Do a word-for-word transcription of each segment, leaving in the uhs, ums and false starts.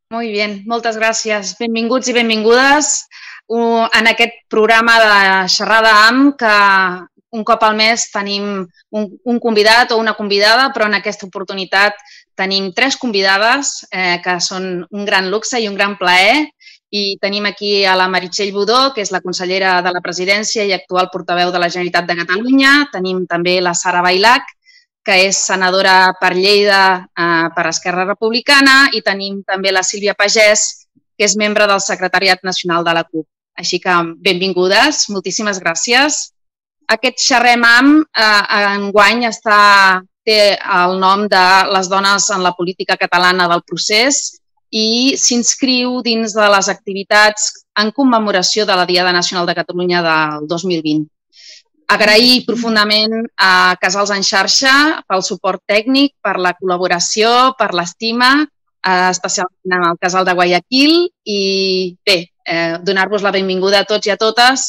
Molt bé, moltes gràcies. Benvinguts i benvingudes en aquest programa de Xerrada amb, que un cop al mes tenim un, un convidat o una convidada, però en aquesta oportunitat tenim tres convidades, eh, que són un gran luxe i un gran plaer. I tenim aquí a la Meritxell Budó, que és la consellera de la Presidència i actual portaveu de la Generalitat de Catalunya. Tenim també la Sara Bailac, que és senadora per Lleida eh, per Esquerra Republicana, i tenim també la Sílvia Pagès, que és membre del Secretariat Nacional de la CUP. Així que benvingudes, moltíssimes gràcies. Aquest Xerrem amb eh, enguany està, té el nom de les dones en la política catalana del procés i s'inscriu dins de les activitats en commemoració de la Diada Nacional de Catalunya del dos mil vint. Agrair profundament a Casals en Xarxa pel suport tècnic, per la col·laboració, per l'estima, especialment al Casal de Guayaquil, i bé, donar-vos la benvinguda a tots i a totes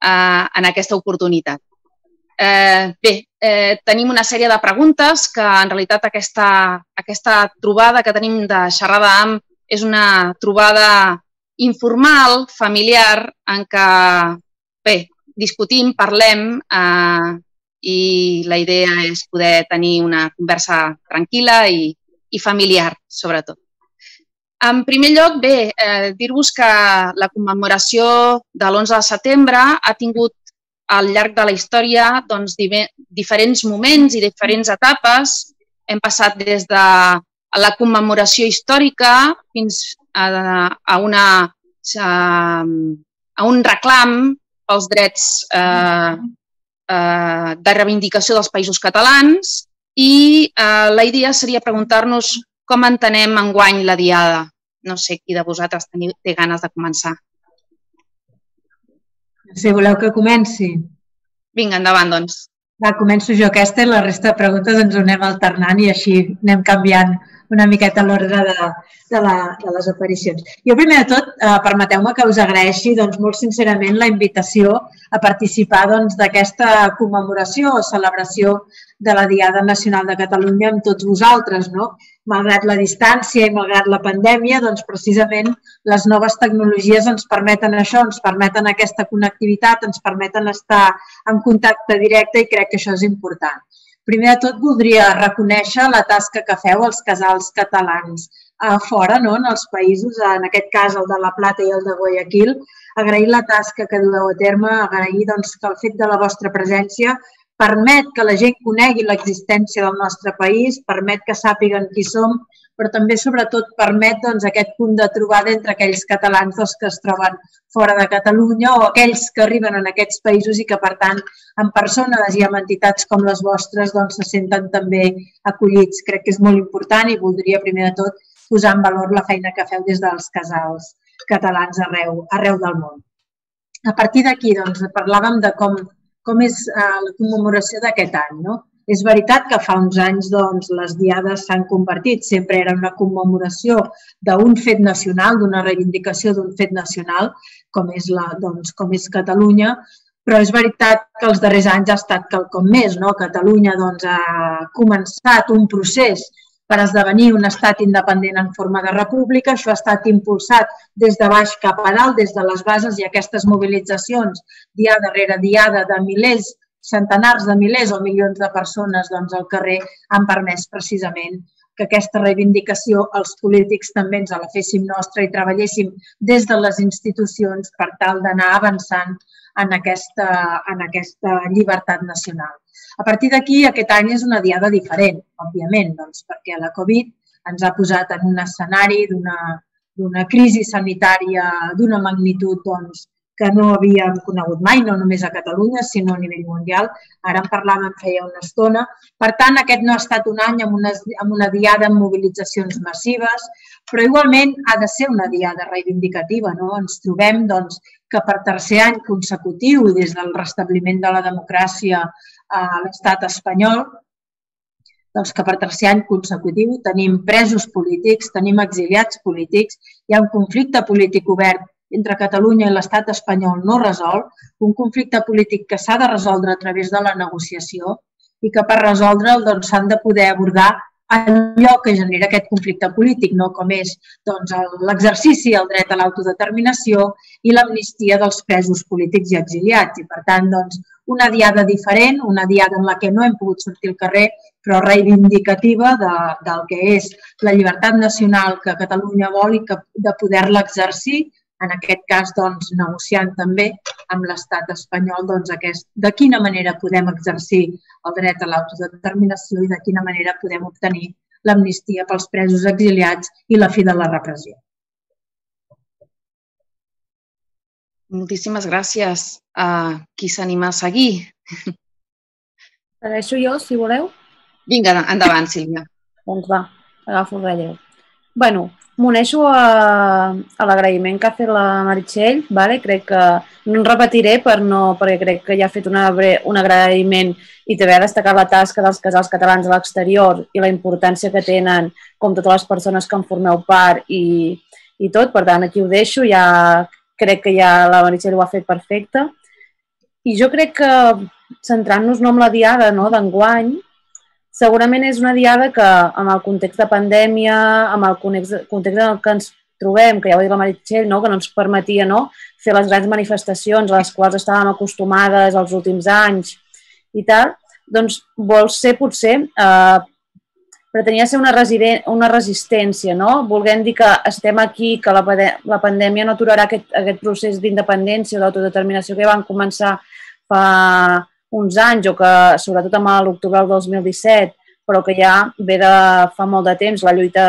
en aquesta oportunitat. Bé, tenim una sèrie de preguntes que en realitat aquesta, aquesta trobada que tenim de Xerrada amb és una trobada informal, familiar, en què, bé, discutim, parlem eh, i la idea és poder tenir una conversa tranquil·la i, i familiar, sobretot. En primer lloc, bé, eh, dir-vos que la commemoració de l'onze de setembre ha tingut al llarg de la història doncs, diferents moments i diferents etapes. Hem passat des de la commemoració històrica fins a, a, una, a, a un reclam els drets eh, eh, de reivindicació dels països catalans i eh, la idea seria preguntar-nos com entenem enguany la Diada. No sé qui de vosaltres teniu, té ganes de començar. Si voleu que comenci. Vinga, endavant, doncs. Va, començo jo aquesta i la resta de preguntes ens ho anem alternant i així anem canviant una miqueta l'ordre de, de, la, de les aparicions. Jo, primer de tot, eh, permeteu-me que us agraeixi doncs, molt sincerament la invitació a participar d'aquesta doncs, commemoració o celebració de la Diada Nacional de Catalunya amb tots vosaltres. No? Malgrat la distància i malgrat la pandèmia, doncs, precisament les noves tecnologies ens permeten això, ens permeten aquesta connectivitat, ens permeten estar en contacte directe i crec que això és important. Primer de tot, voldria reconèixer la tasca que feu els casals catalans a fora, no? En els països, en aquest cas el de La Plata i el de Guayaquil, agrair la tasca que dueu a terme, agrair doncs, que el fet de la vostra presència permet que la gent conegui l'existència del nostre país, permet que sàpiguen qui som, però també, sobretot, permet doncs, aquest punt de trobada entre aquells catalans doncs, que es troben fora de Catalunya o aquells que arriben en aquests països i que, per tant, en persones i en entitats com les vostres doncs, se senten també acollits. Crec que és molt important i voldria, primer de tot, posar en valor la feina que feu des dels casals catalans arreu, arreu del món. A partir d'aquí, doncs, parlàvem de com, com és eh, la commemoració d'aquest any, no? És veritat que fa uns anys doncs, les diades s'han convertit, sempre era una commemoració d'un fet nacional, d'una reivindicació d'un fet nacional, com és, la, doncs, com és Catalunya, però és veritat que els darrers anys ha estat quelcom més. No? Catalunya doncs, ha començat un procés per esdevenir un estat independent en forma de república. Això ha estat impulsat des de baix cap a dalt, des de les bases, i aquestes mobilitzacions, diada rere diada, de milers, centenars de milers o milions de persones doncs, al carrer han permès precisament que aquesta reivindicació els polítics també ens la féssim nostra i treballéssim des de les institucions per tal d'anar avançant en aquesta, en aquesta llibertat nacional. A partir d'aquí, aquest any és una diada diferent, òbviament, doncs, perquè la Covid ens ha posat en un escenari d'una crisi sanitària d'una magnitud doncs, que no havíem conegut mai, no només a Catalunya, sinó a nivell mundial. Ara en parlàvem feia una estona. Per tant, aquest no ha estat un any amb una, amb una diada amb mobilitzacions massives, però igualment ha de ser una diada reivindicativa. No? Ens trobem doncs, que per tercer any consecutiu i des del restabliment de la democràcia a l'estat espanyol, doncs que per tercer any consecutiu tenim presos polítics, tenim exiliats polítics, hi ha un conflicte polític obert entre Catalunya i l'estat espanyol no resolt, un conflicte polític que s'ha de resoldre a través de la negociació i que per resoldre'l s'han de poder abordar allò que genera aquest conflicte polític, no? Com és doncs, l'exercici, el dret a l'autodeterminació i l'amnistia dels presos polítics i exiliats. I, per tant, doncs, una diada diferent, una diada en la que no hem pogut sortir al carrer, però reivindicativa de, del que és la llibertat nacional que Catalunya vol i que, de poder-la exercir, en aquest cas doncs, negociant també amb l'estat espanyol doncs, aquest, de quina manera podem exercir el dret a l'autodeterminació i de quina manera podem obtenir l'amnistia pels presos exiliats i la fi de la repressió. Moltíssimes gràcies a qui s'anima a seguir. Segueixo jo, si voleu. Vinga, endavant, Sílvia. Doncs va, agafo el relleu. Bueno, m'uneixo a, a l'agraïment que ha fet la Meritxell, vale? Crec que no en repetiré per no, perquè crec que ja ha fet una, un agraïment i també ha destacat la tasca dels casals catalans a l'exterior i la importància que tenen com totes les persones que en formeu part i, i tot, per tant aquí ho deixo, ja crec que ja la Meritxell ho ha fet perfecte. I jo crec que centrant-nos no en la diada no, d'enguany, segurament és una diada que amb el context de pandèmia, amb el context en el que ens trobem, que ja ho ha dit la Meritxell, no? Que no ens permetia no? fer les grans manifestacions a les quals estàvem acostumades els últims anys i tal, doncs vol ser potser, eh, pretenia ser una, una resistència, no? Volguem dir que estem aquí, que la, la pandèmia no aturarà aquest, aquest procés d'independència o d'autodeterminació que van començar fa uns anys o que sobretot amb l'octubre del dos mil disset, però que ja ve de fa molt de temps la lluita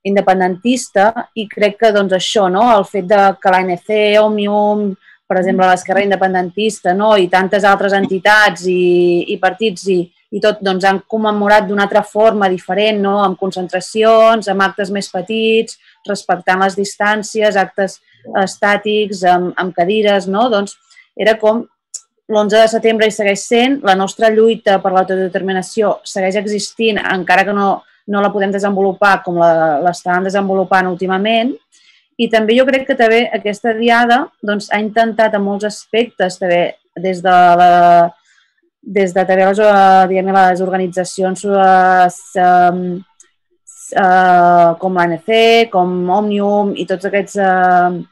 independentista i crec que doncs això, no? El fet de que l'A N C, Òmnium, per exemple l'Esquerra Independentista no? I tantes altres entitats i, i partits i, i tot doncs, han commemorat d'una altra forma diferent, no? Amb concentracions, amb actes més petits, respectant les distàncies, actes estàtics, amb, amb cadires, no? Doncs era com l'onze de setembre hi segueix sent, la nostra lluita per l'autodeterminació segueix existint, encara que no, no la podem desenvolupar com l'estàvem desenvolupant últimament. I també jo crec que també aquesta diada doncs, ha intentat en molts aspectes, també, des de, la, des de també les, diguem, les organitzacions les, eh, eh, com l'A N C, com Òmnium i tots aquests... Eh,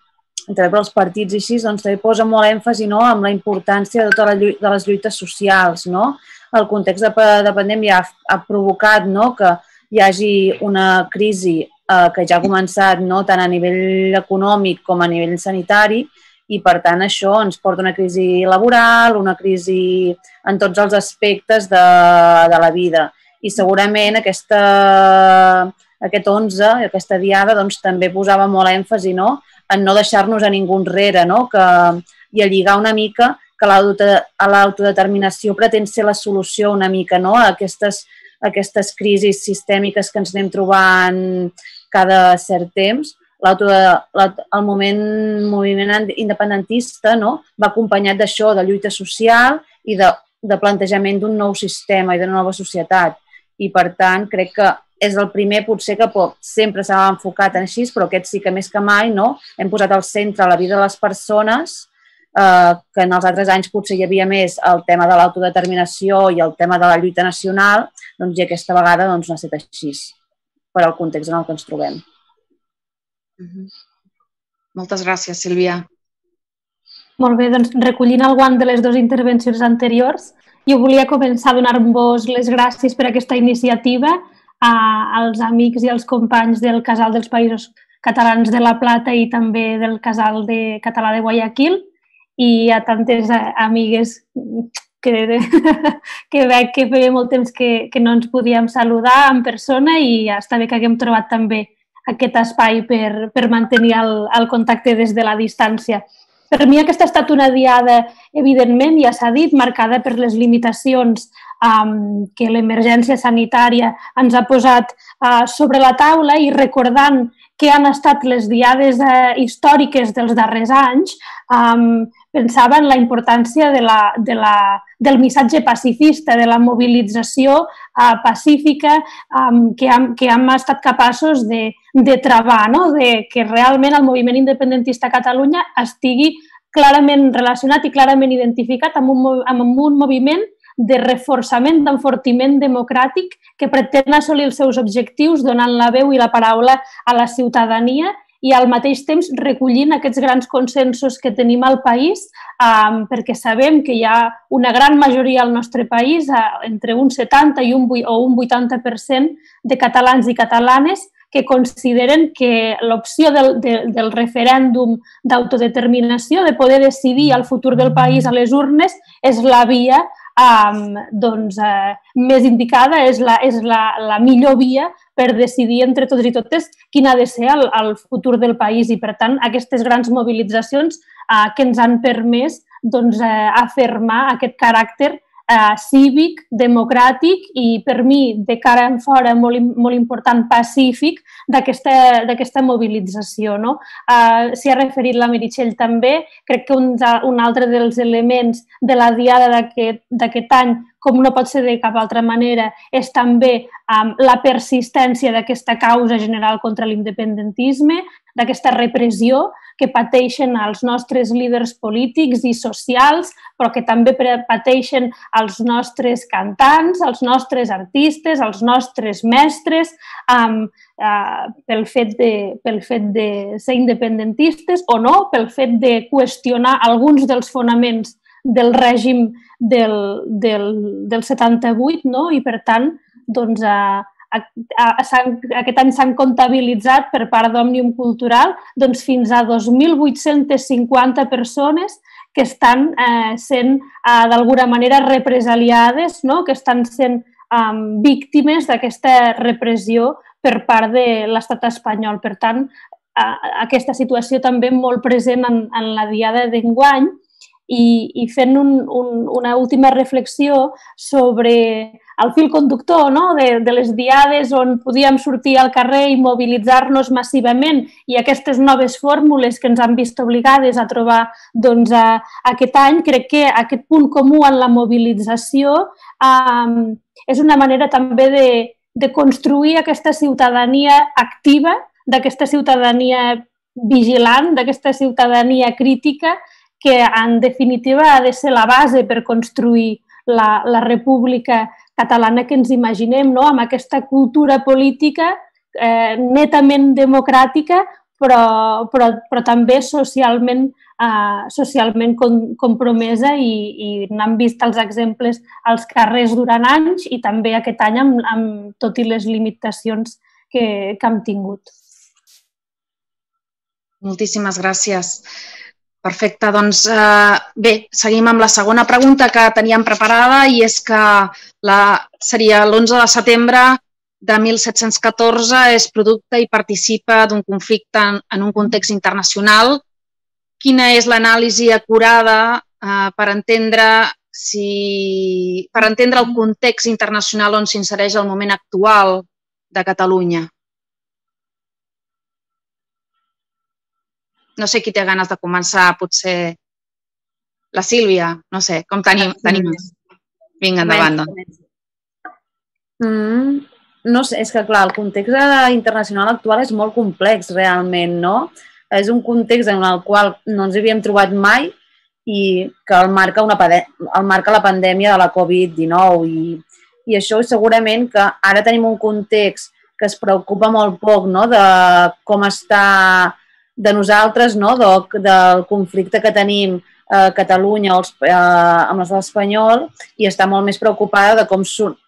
també per als partits i així, doncs també posa molt èmfasi no, amb la importància de totes les de les lluites socials. No? El context de, de pandèmia ha, ha provocat no, que hi hagi una crisi eh, que ja ha començat no, tant a nivell econòmic com a nivell sanitari i per tant això ens porta una crisi laboral, una crisi en tots els aspectes de, de la vida. I segurament aquesta, aquest onze, aquesta diada, doncs, també posava molt èmfasi no, en no deixar-nos a ningú enrere no? Que, i a lligar una mica que l'autodeterminació pretén ser la solució una mica no? a aquestes, a aquestes crisis sistèmiques que ens anem trobant cada cert temps. El moment moviment independentista no? Va acompanyat d'això, de lluita social i de, de plantejament d'un nou sistema i d'una nova societat. I per tant crec que és el primer potser que pot, sempre s'ha enfocat en així, però aquest sí que més que mai no? Hem posat al centre la vida de les persones, eh, que en els altres anys potser hi havia més el tema de l'autodeterminació i el tema de la lluita nacional, doncs i aquesta vegada doncs, no ha estat així, per al context en el que ens trobem. Mm-hmm. Moltes gràcies, Sílvia. Molt bé, doncs recollint el guant de les dues intervencions anteriors, jo volia començar a donar-vos les gràcies per aquesta iniciativa als amics i als companys del Casal dels Països Catalans de la Plata i també del Casal de Català de Guayaquil i a tantes amigues que, que veig que feia molt temps que, que no ens podíem saludar en persona i està bé que haguem trobat també aquest espai per, per mantenir el, el contacte des de la distància. Per mi aquesta ha estat una diada, evidentment, ja s'ha dit, marcada per les limitacions um, que l'emergència sanitària ens ha posat uh, sobre la taula i recordant que han estat les diades uh, històriques dels darrers anys, um, pensava en la importància de la, de la, del missatge pacifista, de la mobilització uh, pacífica um, que, hem, que hem estat capaços de, de travar, no? De que realment el moviment independentista a Catalunya estigui clarament relacionat i clarament identificat amb un, amb un moviment de reforçament, d'enfortiment democràtic que pretén assolir els seus objectius donant la veu i la paraula a la ciutadania i al mateix temps recollint aquests grans consensos que tenim al país, eh, perquè sabem que hi ha una gran majoria al nostre país, eh, entre un setanta i un, o un vuitanta per cent de catalans i catalanes que consideren que l'opció del, de, del referèndum d'autodeterminació, de poder decidir el futur del país a les urnes, és la via Um, doncs, uh, més indicada, és, la, és la, la millor via per decidir entre tots i totes quin ha de ser el, el futur del país i, per tant, aquestes grans mobilitzacions uh, que ens han permès doncs, uh, afirmar aquest caràcter uh, cívic, democràtic i, per mi, de cara en fora, molt, molt important, pacífic d'aquesta mobilització. No? Uh, S'hi ha referit la Meritxell també. Crec que un, un altre dels elements de la diada d'aquest any, com no pot ser de cap altra manera, és també um, la persistència d'aquesta causa general contra l'independentisme, d'aquesta repressió que pateixen els nostres líders polítics i socials, però que també pateixen els nostres cantants, els nostres artistes, els nostres mestres, um, uh, pel, fet de, pel fet de ser independentistes o no, pel fet de qüestionar alguns dels fonaments del règim del, del, del setanta-vuit, no? I per tant, doncs, a, a, a, aquest any s'han comptabilitzat per part d'Òmnium Cultural doncs, fins a dos mil vuit-cents cinquanta persones que estan eh, sent eh, d'alguna manera represaliades, no? Que estan sent eh, víctimes d'aquesta repressió per part de l'estat espanyol. Per tant, eh, aquesta situació també molt present en, en la diada d'enguany. I, i fent un, un, una última reflexió sobre el fil conductor, no? de, de les diades on podíem sortir al carrer i mobilitzar-nos massivament i aquestes noves fórmules que ens han vist obligades a trobar doncs, a, aquest any, crec que aquest punt comú en la mobilització um, és una manera també de, de construir aquesta ciutadania activa, d'aquesta ciutadania vigilant, d'aquesta ciutadania crítica, que en definitiva ha de ser la base per construir la, la república catalana que ens imaginem, no? Amb aquesta cultura política eh, netament democràtica, però, però, però també socialment, eh, socialment com, compromesa i, i n'hem vist els exemples als carrers durant anys i també aquest any amb, amb tot i les limitacions que, que hem tingut. Moltíssimes gràcies. Perfecte, doncs eh, bé, seguim amb la segona pregunta que teníem preparada i és que la, seria l'onze de setembre de mil set-cents catorze és producte i participa d'un conflicte en, en un context internacional. Quina és l'anàlisi acurada eh, per entendre si, per entendre el context internacional on s'insereix el moment actual de Catalunya? No sé qui té ganes de començar, potser la Sílvia, no sé, com tenim? tenim? Vinga, endavant, doncs. Mm, no sé, és que clar, el context internacional actual és molt complex realment, no? És un context en el qual no ens havíem trobat mai i que el marca, una, el marca la pandèmia de la Covid dinou i, i això segurament que ara tenim un context que es preocupa molt poc, no? De com està de nosaltres, no? de, del conflicte que tenim a Catalunya els, eh, amb l'estat espanyol i està molt més preocupada de com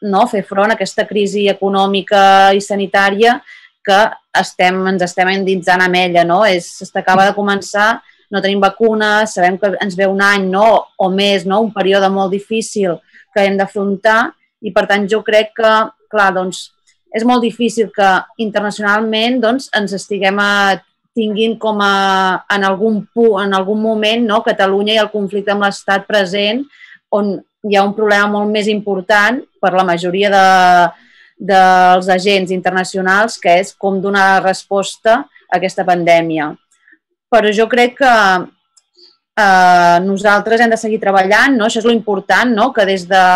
no? fer front a aquesta crisi econòmica i sanitària que estem, ens estem endinsant amb ella. No? S'acaba de començar, no tenim vacunes, sabem que ens ve un any no? o més, no? un període molt difícil que hem d'afrontar i per tant jo crec que, clar, doncs, és molt difícil que internacionalment doncs, ens estiguem a tinguin com a, en, algun, en algun moment no, Catalunya i el conflicte amb l'Estat present, on hi ha un problema molt més important per la majoria de, dels agents internacionals, que és com donar resposta a aquesta pandèmia. Però jo crec que eh, nosaltres hem de seguir treballant, no? Això és l'important, no? Que des de,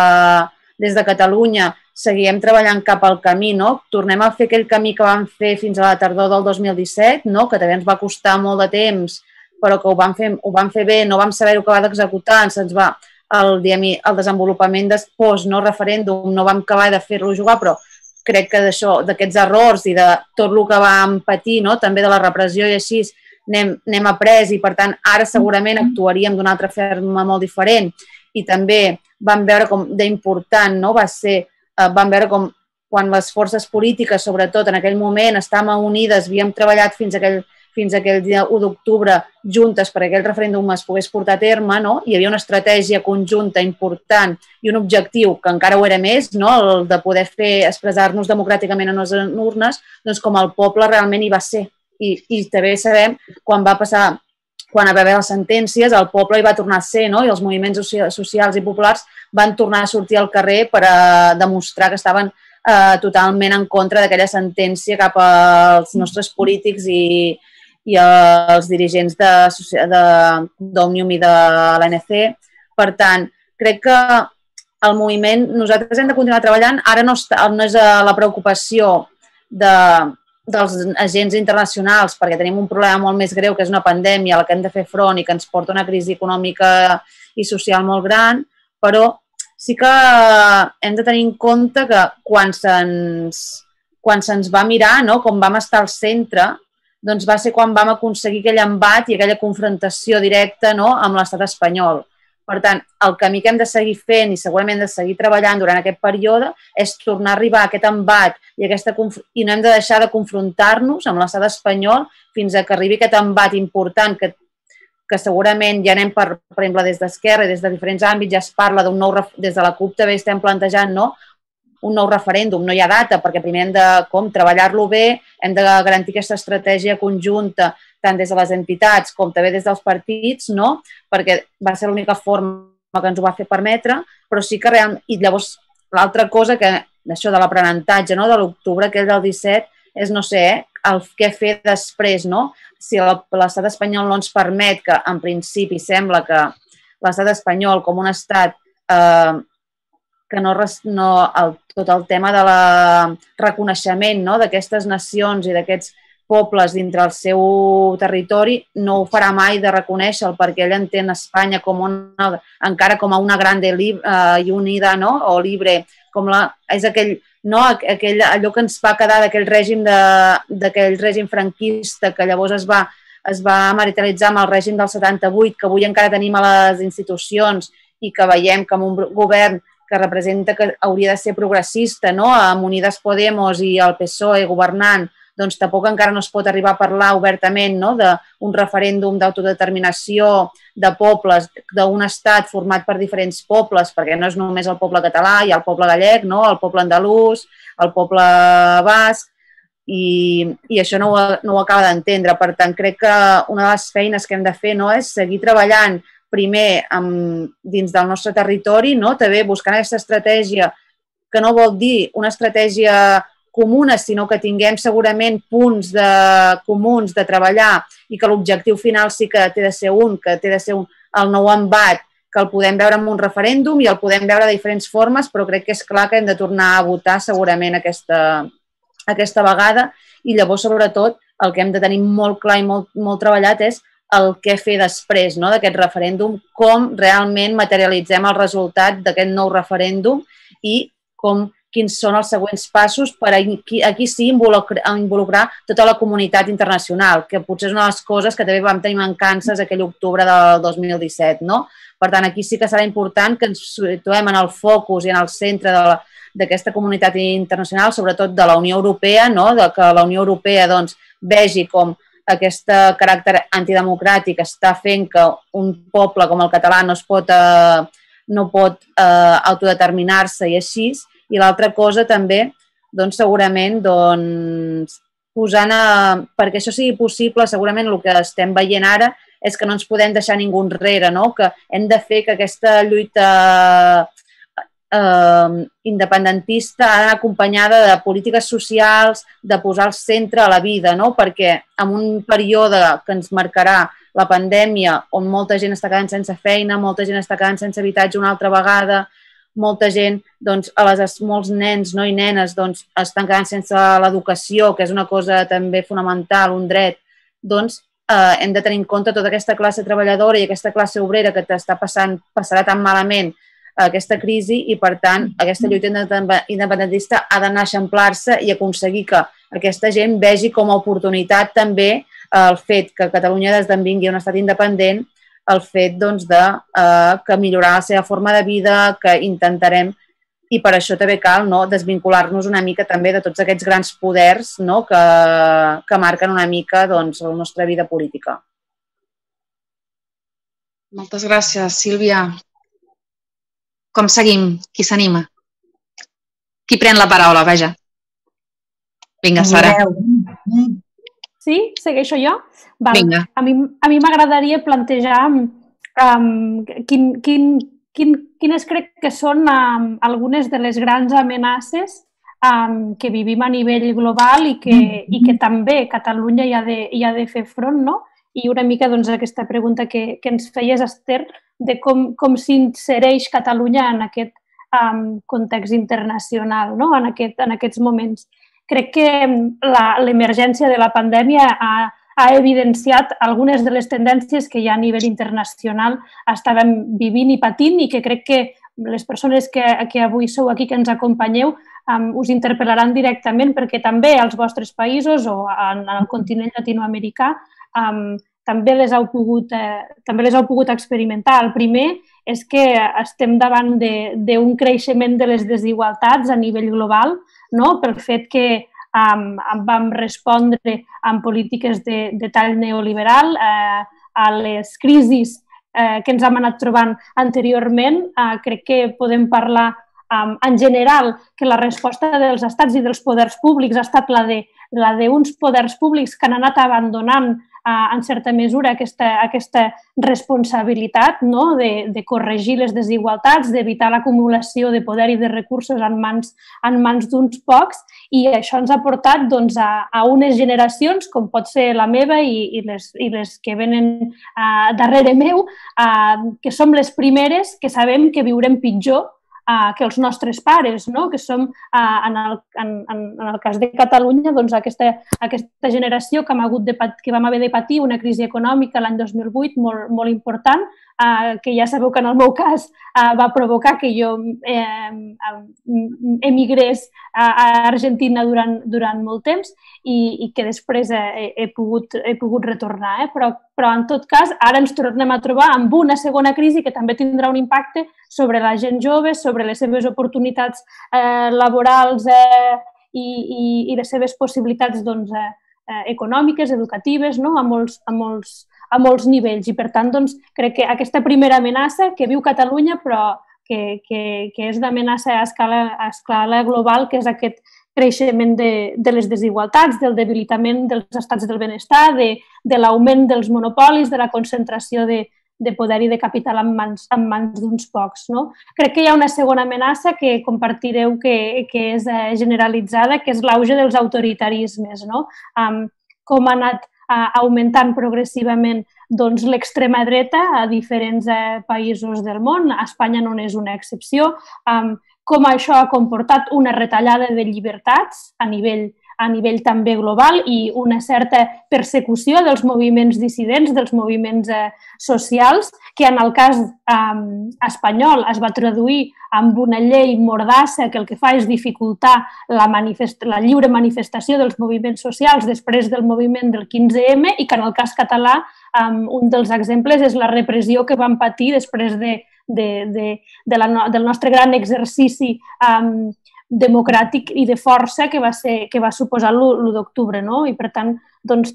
des de Catalunya seguim treballant cap al camí, no? Tornem a fer aquell camí que vam fer fins a la tardor del dos mil disset, no? Que també ens va costar molt de temps, però que ho vam fer, ho vam fer bé, no vam saber-ho acabar d'executar, se'ns va el, el desenvolupament després, no, referèndum, no vam acabar de fer-lo jugar, però crec que d'això, d'aquests errors i de tot el que vam patir, no, també de la repressió i així, n'hem, n'hem après i, per tant, ara segurament actuaríem d'una altra forma molt diferent. I també vam veure com d'important, no, va ser, eh, vam veure com quan les forces polítiques, sobretot en aquell moment, estàvem unides, havíem treballat fins aquell, fins aquell dia u d'octubre juntes perquè aquell referèndum es pogués portar a terme, no? Hi havia una estratègia conjunta important i un objectiu que encara ho era més, no? El de poder fer expressar-nos democràticament en les urnes, doncs com el poble realment hi va ser. I, i també sabem quan va passar, quan va haver les sentències, el poble hi va tornar a ser, no? I els moviments socials i populars van tornar a sortir al carrer per a demostrar que estaven eh, totalment en contra d'aquella sentència cap als nostres polítics i, i els dirigents d'Òmnium i de l'A N C. Per tant, crec que el moviment, nosaltres hem de continuar treballant. Ara no, està, no és la preocupació de, dels agents internacionals, perquè tenim un problema molt més greu, que és una pandèmia a la que hem de fer front i que ens porta una crisi econòmica i social molt gran, però sí que hem de tenir en compte que quan se'ns quan se'ns va mirar, no, com vam estar al centre, doncs va ser quan vam aconseguir aquell embat i aquella confrontació directa, no, amb l'estat espanyol. Per tant, el camí que hem de seguir fent i segurament hem de seguir treballant durant aquest període és tornar a arribar a aquest embat i, aquesta, i no hem de deixar de confrontar-nos amb l'estat espanyol fins a que arribi aquest embat important que, que segurament ja anem, per, per exemple, des d'Esquerra i des de diferents àmbits, ja es parla d'un nou, des de la CUP també estem plantejant, no?, un nou referèndum. No hi ha data perquè primer hem de com treballar-lo bé, hem de garantir aquesta estratègia conjunta tant des de les entitats com també des dels partits, no? Perquè va ser l'única forma que ens ho va fer permetre, però sí que realment... I llavors l'altra cosa que això de l'aprenentatge, no?, de l'octubre, que és del disset, és, no sé, eh, el què fer després, no? Si l'estat espanyol no ens permet, que en principi sembla que l'estat espanyol com un estat eh, que no, no el, tot el tema de la reconeixement, no?, d'aquestes nacions i d'aquests pobles dintre el seu territori no ho farà mai de reconèixer-lo perquè ell entén Espanya com una, encara com a una grande uh, i unida, no?, o libre, com la, és aquell, no, aquell, allò que ens va quedar d'aquell règim, de, d'aquell règim franquista que llavors es va, es va materialitzar amb el règim del setanta-vuit, que avui encara tenim a les institucions i que veiem com un govern que representa que hauria de ser progressista, no?, amb Unides Podemos i el P S O E governant, doncs tampoc encara no es pot arribar a parlar obertament, no?, d'un referèndum d'autodeterminació de pobles, d'un estat format per diferents pobles, perquè no és només el poble català, hi ha el poble gallec, no?, el poble andalús, el poble basc, i, i això no ho, no ho acaba d'entendre. Per tant, crec que una de les feines que hem de fer, no?, és seguir treballant primer amb, dins del nostre territori, no?, també buscant aquesta estratègia, que no vol dir una estratègia comuna, sinó que tinguem segurament punts de, comuns de treballar i que l'objectiu final sí que té de ser un, que té de ser un, el nou embat, que el podem veure en un referèndum i el podem veure de diferents formes, però crec que és clar que hem de tornar a votar segurament aquesta, aquesta vegada i llavors, sobretot, el que hem de tenir molt clar i molt, molt treballat és el què fer després, no?, d'aquest referèndum, com realment materialitzem el resultat d'aquest nou referèndum i com, quins són els següents passos per aquí, aquí sí involucrar, involucrar tota la comunitat internacional, que potser és una de les coses que també vam tenir mancances aquell octubre del dos mil disset, no? Per tant, aquí sí que serà important que ens situem en el focus i en el centre d'aquesta comunitat internacional, sobretot de la Unió Europea, no?, de que la Unió Europea doncs, vegi com aquest caràcter antidemocràtic està fent que un poble com el català no es pot, eh, no pot eh, autodeterminar-se i així. I l'altra cosa també, doncs, segurament, doncs, posant a, perquè això sigui possible, segurament el que estem veient ara és que no ens podem deixar ningú enrere, no?, que hem de fer que aquesta lluita eh, independentista ha d'anar acompanyada de polítiques socials, de posar al centre a la vida, no?, perquè en un període que ens marcarà la pandèmia, on molta gent està quedant sense feina, molta gent està quedant sense habitatge una altra vegada, molta gent, doncs, a les, molts nens, no, i nenes, doncs, estan quedant sense l'educació, que és una cosa també fonamental, un dret, doncs, hem de tenir en compte tota aquesta classe treballadora i aquesta classe obrera que t'està passant, passarà tan malament aquesta crisi i, per tant, aquesta lluita independentista ha d'anar a eixamplar-se i aconseguir que aquesta gent vegi com a oportunitat també el fet que Catalunya esdevingui un estat independent, el fet que millorar la seva forma de vida, que intentarem, i per això també cal desvincular-nos una mica també de tots aquests grans poders que marquen una mica la nostra vida política. Moltes gràcies, Sílvia. Com seguim? Qui s'anima? Qui pren la paraula, vaja? Vinga, Sara. Sí? Segueixo jo? Vinga. A mi m'agradaria plantejar quines crec que són algunes de les grans amenaces que vivim a nivell global i que també Catalunya hi ha de fer front, no? I una mica aquesta pregunta que ens feies, Esther, de com s'insereix Catalunya en aquest context internacional, en aquests moments. Crec que l'emergència de la pandèmia ha evidenciat algunes de les tendències que ja a nivell internacional estàvem vivint i patint i que crec que les persones que avui sou aquí, que ens acompanyeu, us interpel·laran directament perquè també als vostres països o en el continent llatinoamericà també les heu pogut experimentar. El primer és que estem davant d'un creixement de les desigualtats a nivell global, pel fet que vam respondre amb polítiques de tall neoliberal a les crisis que ens hem anat trobant anteriorment. Crec que podem parlar en general que la resposta dels estats i dels poders públics ha estat la d'uns poders públics que han anat abandonant en certa mesura aquesta responsabilitat de corregir les desigualtats, d'evitar l'acumulació de poder i de recursos en mans d'uns pocs, i això ens ha portat a unes generacions, com pot ser la meva i les que venen darrere meu, que som les primeres que sabem que viurem pitjor que els nostres pares, que som, en el cas de Catalunya, aquesta generació que vam haver de patir una crisi econòmica l'any dos mil vuit molt important, que ja sabeu que en el meu cas va provocar que jo emigrés a Argentina durant molt temps i que després he pogut retornar. Però, en tot cas, ara ens tornem a trobar amb una segona crisi que també tindrà un impacte sobre la gent jove, sobre les seves oportunitats laborals i les seves possibilitats econòmiques, educatives, a molts nivells. I, per tant, crec que aquesta primera amenaça que viu Catalunya, però que és d'amenaça a escala global, que és aquest creixement de les desigualtats, del debilitament dels estats del benestar, de l'augment dels monopolis, de la concentració de poder i de capital en mans d'uns pocs. Crec que hi ha una segona amenaça que compartireu que és generalitzada, que és l'auge dels autoritarismes. Com ha anat augmentant progressivament l'extrema dreta a diferents països del món, a Espanya no n'és una excepció, com això ha comportat una retallada de llibertats a nivell també global i una certa persecució dels moviments dissidents, dels moviments socials, que en el cas espanyol es va traduir amb una llei mordassa que el que fa és dificultar la lliure manifestació dels moviments socials després del moviment del quinze ema i que en el cas català un dels exemples és la repressió que vam patir després del nostre gran exercici democràtic i de força que va suposar l'u d'octubre. I, per tant,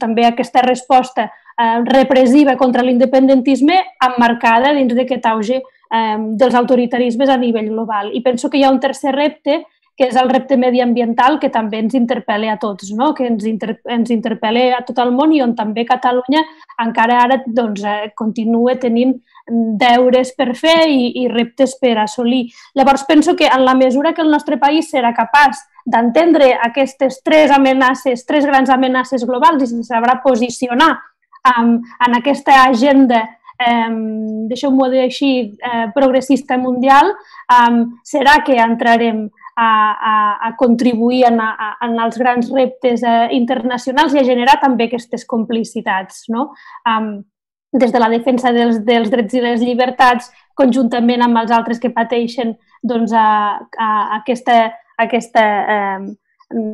també aquesta resposta repressiva contra l'independentisme emmarcada dins d'aquest auge dels autoritarismes a nivell global. I penso que hi ha un tercer repte, que és el repte mediambiental, que també ens interpel·la a tots, que ens interpel·la a tot el món i on també Catalunya encara ara continua tenint deures per fer i reptes per assolir. Llavors penso que en la mesura que el nostre país serà capaç d'entendre aquestes tres amenaces, tres grans amenaces globals i se sabrà posicionar en aquesta agenda, deixeu-m'ho dir així, progressista mundial, serà que entrarem a, a, a contribuir en, a, en els grans reptes eh, internacionals i a generar també aquestes complicitats, no? Um, des de la defensa dels, dels drets i les llibertats, conjuntament amb els altres que pateixen doncs, a, a, a aquesta, a aquesta eh,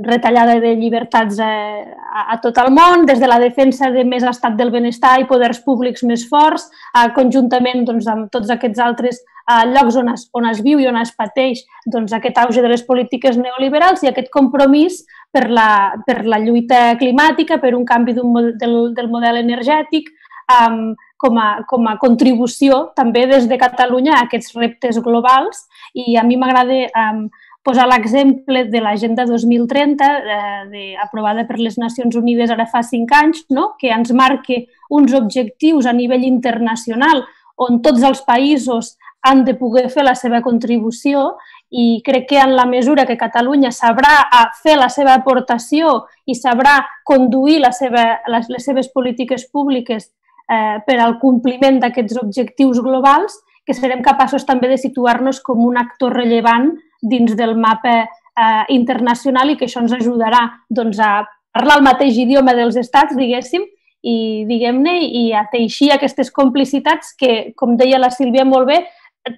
retallada de llibertats eh, a, a tot el món, des de la defensa de més estat del benestar i poders públics més forts, eh, conjuntament doncs, amb tots aquests altres eh, llocs on es, on es viu i on es pateix doncs, aquest auge de les polítiques neoliberals i aquest compromís per la, per la lluita climàtica, per un canvi del, del model energètic, um, com, a, com a contribució també des de Catalunya a aquests reptes globals. I a mi m'agrada um, posar l'exemple de l'Agenda dos mil trenta, eh, de, aprovada per les Nacions Unides ara fa cinc anys, no? Que ens marca uns objectius a nivell internacional on tots els països han de poder fer la seva contribució i crec que en la mesura que Catalunya sabrà fer la seva aportació i sabrà conduir la seva, les, les seves polítiques públiques eh, per al compliment d'aquests objectius globals, que serem capaços també de situar-nos com un actor rellevant dins del mapa eh, internacional i que això ens ajudarà doncs, a parlar el mateix idioma dels estats, diguéssim, i diguem-ne, i a teixir aquestes complicitats que, com deia la Sílvia molt bé,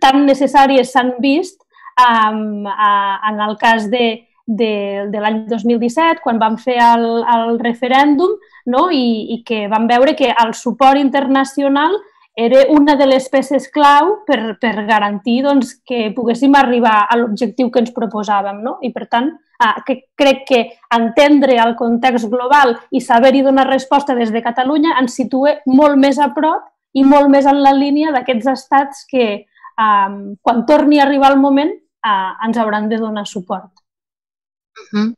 tan necessàries s'han vist um, a, en el cas de, de, de l'any dos mil disset, quan vam fer el, el referèndum, no? I, i que vam veure que el suport internacional era una de les peces clau per, per garantir doncs, que poguéssim arribar a l'objectiu que ens proposàvem. No? I, per tant, eh, que crec que entendre el context global i saber-hi donar resposta des de Catalunya ens situa molt més a prop i molt més en la línia d'aquests estats que, eh, quan torni a arribar el moment, eh, ens hauran de donar suport. Uh-huh.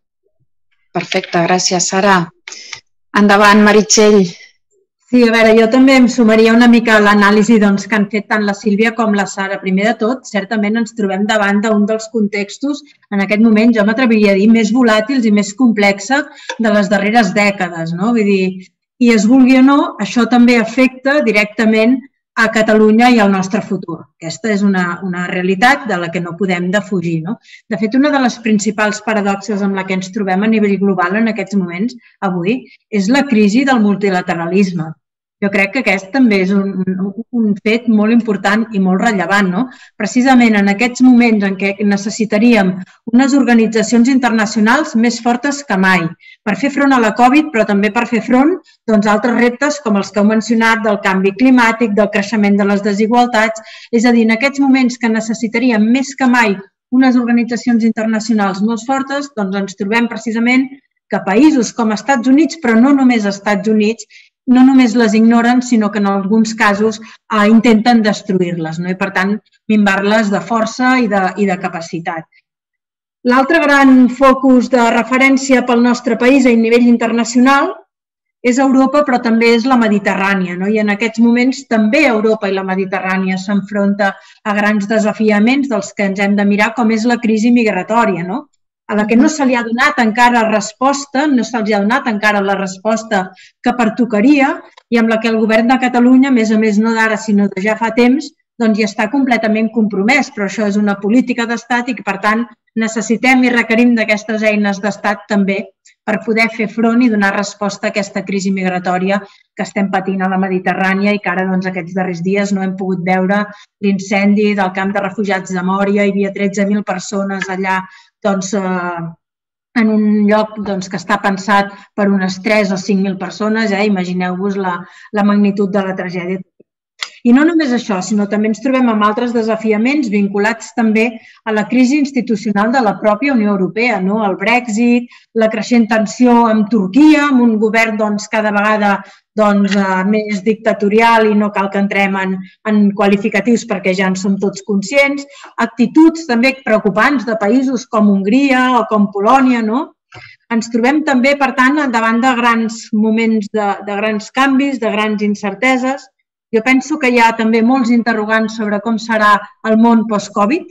Perfecte, gràcies, Sara. Endavant, Meritxell. Sí, a veure, jo també em sumaria una mica a l'anàlisi doncs, que han fet tant la Sílvia com la Sara. Primer de tot, certament ens trobem davant d'un dels contextos, en aquest moment jo m'atreviria a dir, més volàtils i més complexa de les darreres dècades. No? Vull dir, i es vulgui o no, això també afecta directament a Catalunya i al nostre futur. Aquesta és una, una realitat de la que no podem defugir. No? De fet, una de les principals paradoxes amb la que ens trobem a nivell global en aquests moments, avui, és la crisi del multilateralisme. Jo crec que aquest també és un, un fet molt important i molt rellevant. No? Precisament en aquests moments en què necessitaríem unes organitzacions internacionals més fortes que mai per fer front a la Covid, però també per fer front doncs, a altres reptes com els que heu mencionat del canvi climàtic, del creixement de les desigualtats. És a dir, en aquests moments que necessitaríem més que mai unes organitzacions internacionals molt fortes, doncs ens trobem precisament que països com Estats Units, però no només Estats Units, no només les ignoren, sinó que en alguns casos eh, intenten destruir-les, no? I per tant minvar-les de força i de, i de capacitat. L'altre gran focus de referència pel nostre país a nivell internacional és Europa, però també és la Mediterrània. No? I en aquests moments també Europa i la Mediterrània s'enfronta a grans desafiaments dels que ens hem de mirar, com és la crisi migratòria, no? A la que no se li ha donat encara resposta, no se li ha donat encara la resposta que pertocaria i amb la que el govern de Catalunya, a més a més no d'ara sinó de ja fa temps, doncs hi està completament compromès, però això és una política d'estat i que per tant necessitem i requerim d'aquestes eines d'estat també per poder fer front i donar resposta a aquesta crisi migratòria que estem patint a la Mediterrània i que ara doncs, aquests darrers dies no hem pogut veure l'incendi del camp de refugiats de Mòria, hi havia tretze mil persones allà doncs, eh, en un lloc doncs, que està pensat per unes tres o cinc mil persones, eh? Imagineu-vos la, la magnitud de la tragèdia. I no només això, sinó també ens trobem amb altres desafiaments vinculats també a la crisi institucional de la pròpia Unió Europea, no? El Brexit, la creixent tensió amb Turquia, amb un govern doncs, cada vegada doncs, més dictatorial i no cal que entrem en, en qualificatius perquè ja en som tots conscients, actituds també preocupants de països com Hongria o com Polònia, no? Ens trobem també, per tant, davant de grans moments de, de grans canvis, de grans incerteses. Jo penso que hi ha també molts interrogants sobre com serà el món post-Covid.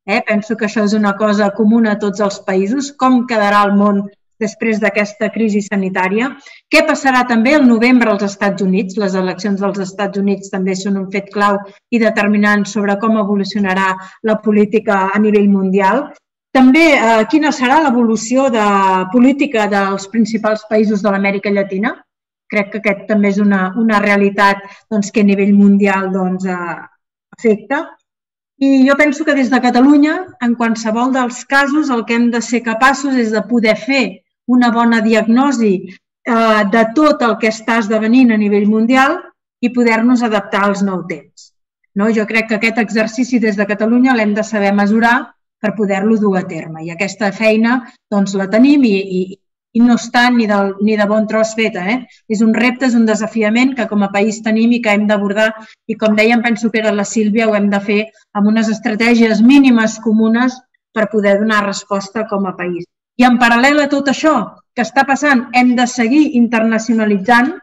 Eh? Penso que això és una cosa comuna a tots els països. Com quedarà el món després d'aquesta crisi sanitària? Què passarà també el novembre als Estats Units? Les eleccions dels Estats Units també són un fet clau i determinant sobre com evolucionarà la política a nivell mundial. També, quina serà l'evolució de política dels principals països de l'Amèrica Llatina? Crec que aquest també és una, una realitat doncs, que a nivell mundial doncs, afecta. I jo penso que des de Catalunya, en qualsevol dels casos, el que hem de ser capaços és de poder fer una bona diagnosi eh, de tot el que està esdevenint a nivell mundial i poder-nos adaptar als nous temps. No? Jo crec que aquest exercici des de Catalunya l'hem de saber mesurar per poder-lo dur a terme. I aquesta feina doncs, la tenim i, i, i no està ni, del, ni de bon tros feta. Eh? És un repte, és un desafiament que com a país tenim i que hem d'abordar i com dèiem, penso que era la Sílvia, ho hem de fer amb unes estratègies mínimes comunes per poder donar resposta com a país. I en paral·lel a tot això que està passant, hem de seguir internacionalitzant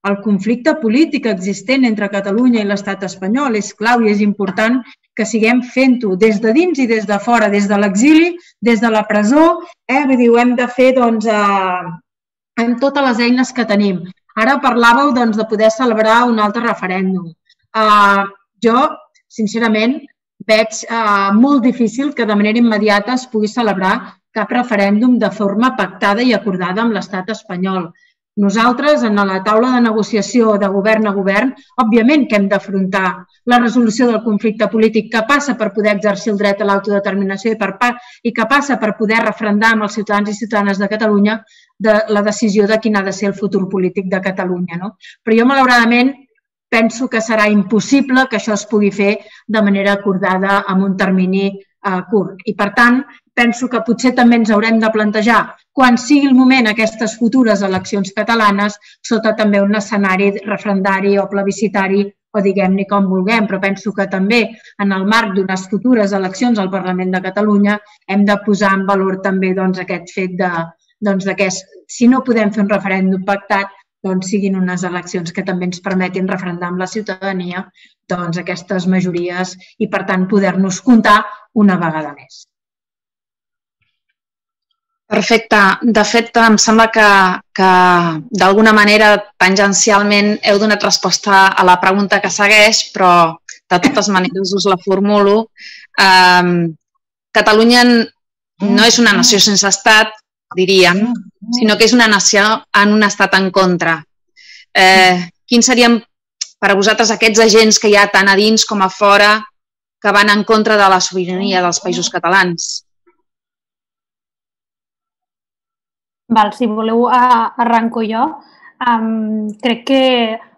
el conflicte polític existent entre Catalunya i l'estat espanyol. És clau i és important que siguem fent-ho des de dins i des de fora, des de l'exili, des de la presó. Eh? Vull dir, ho hem de fer doncs, eh, amb totes les eines que tenim. Ara parlàveu doncs, de poder celebrar un altre referèndum. Eh, jo, sincerament, veig eh, molt difícil que de manera immediata es pugui celebrar cap referèndum de forma pactada i acordada amb l'estat espanyol. Nosaltres, en la taula de negociació de govern a govern, òbviament que hem d'afrontar la resolució del conflicte polític que passa per poder exercir el dret a l'autodeterminació i, per, i que passa per poder referendar amb els ciutadans i ciutadanes de Catalunya de la decisió de quin ha de ser el futur polític de Catalunya. No? Però jo, malauradament, penso que serà impossible que això es pugui fer de manera acordada amb un termini eh, curt. I, per tant, penso que potser també ens haurem de plantejar, quan sigui el moment, aquestes futures eleccions catalanes, sota també un escenari referendari o plebiscitari, o diguem-ne com vulguem, però penso que també en el marc d'unes futures eleccions al Parlament de Catalunya hem de posar en valor també doncs, aquest fet de, doncs, que si no podem fer un referèndum pactat, doncs siguin unes eleccions que també ens permetin referendar amb la ciutadania doncs, aquestes majories i, per tant, poder-nos comptar una vegada més. Perfecte. De fet, em sembla que, que d'alguna manera, tangencialment, heu donat resposta a la pregunta que segueix, però de totes maneres us la formulo. Eh, Catalunya no és una nació sense estat, diríem, sinó que és una nació en un estat en contra. Eh, quins serien per a vosaltres aquests agents que hi ha tant a dins com a fora que van en contra de la sobirania dels països catalans? Val, si voleu, arranco jo. Um, crec que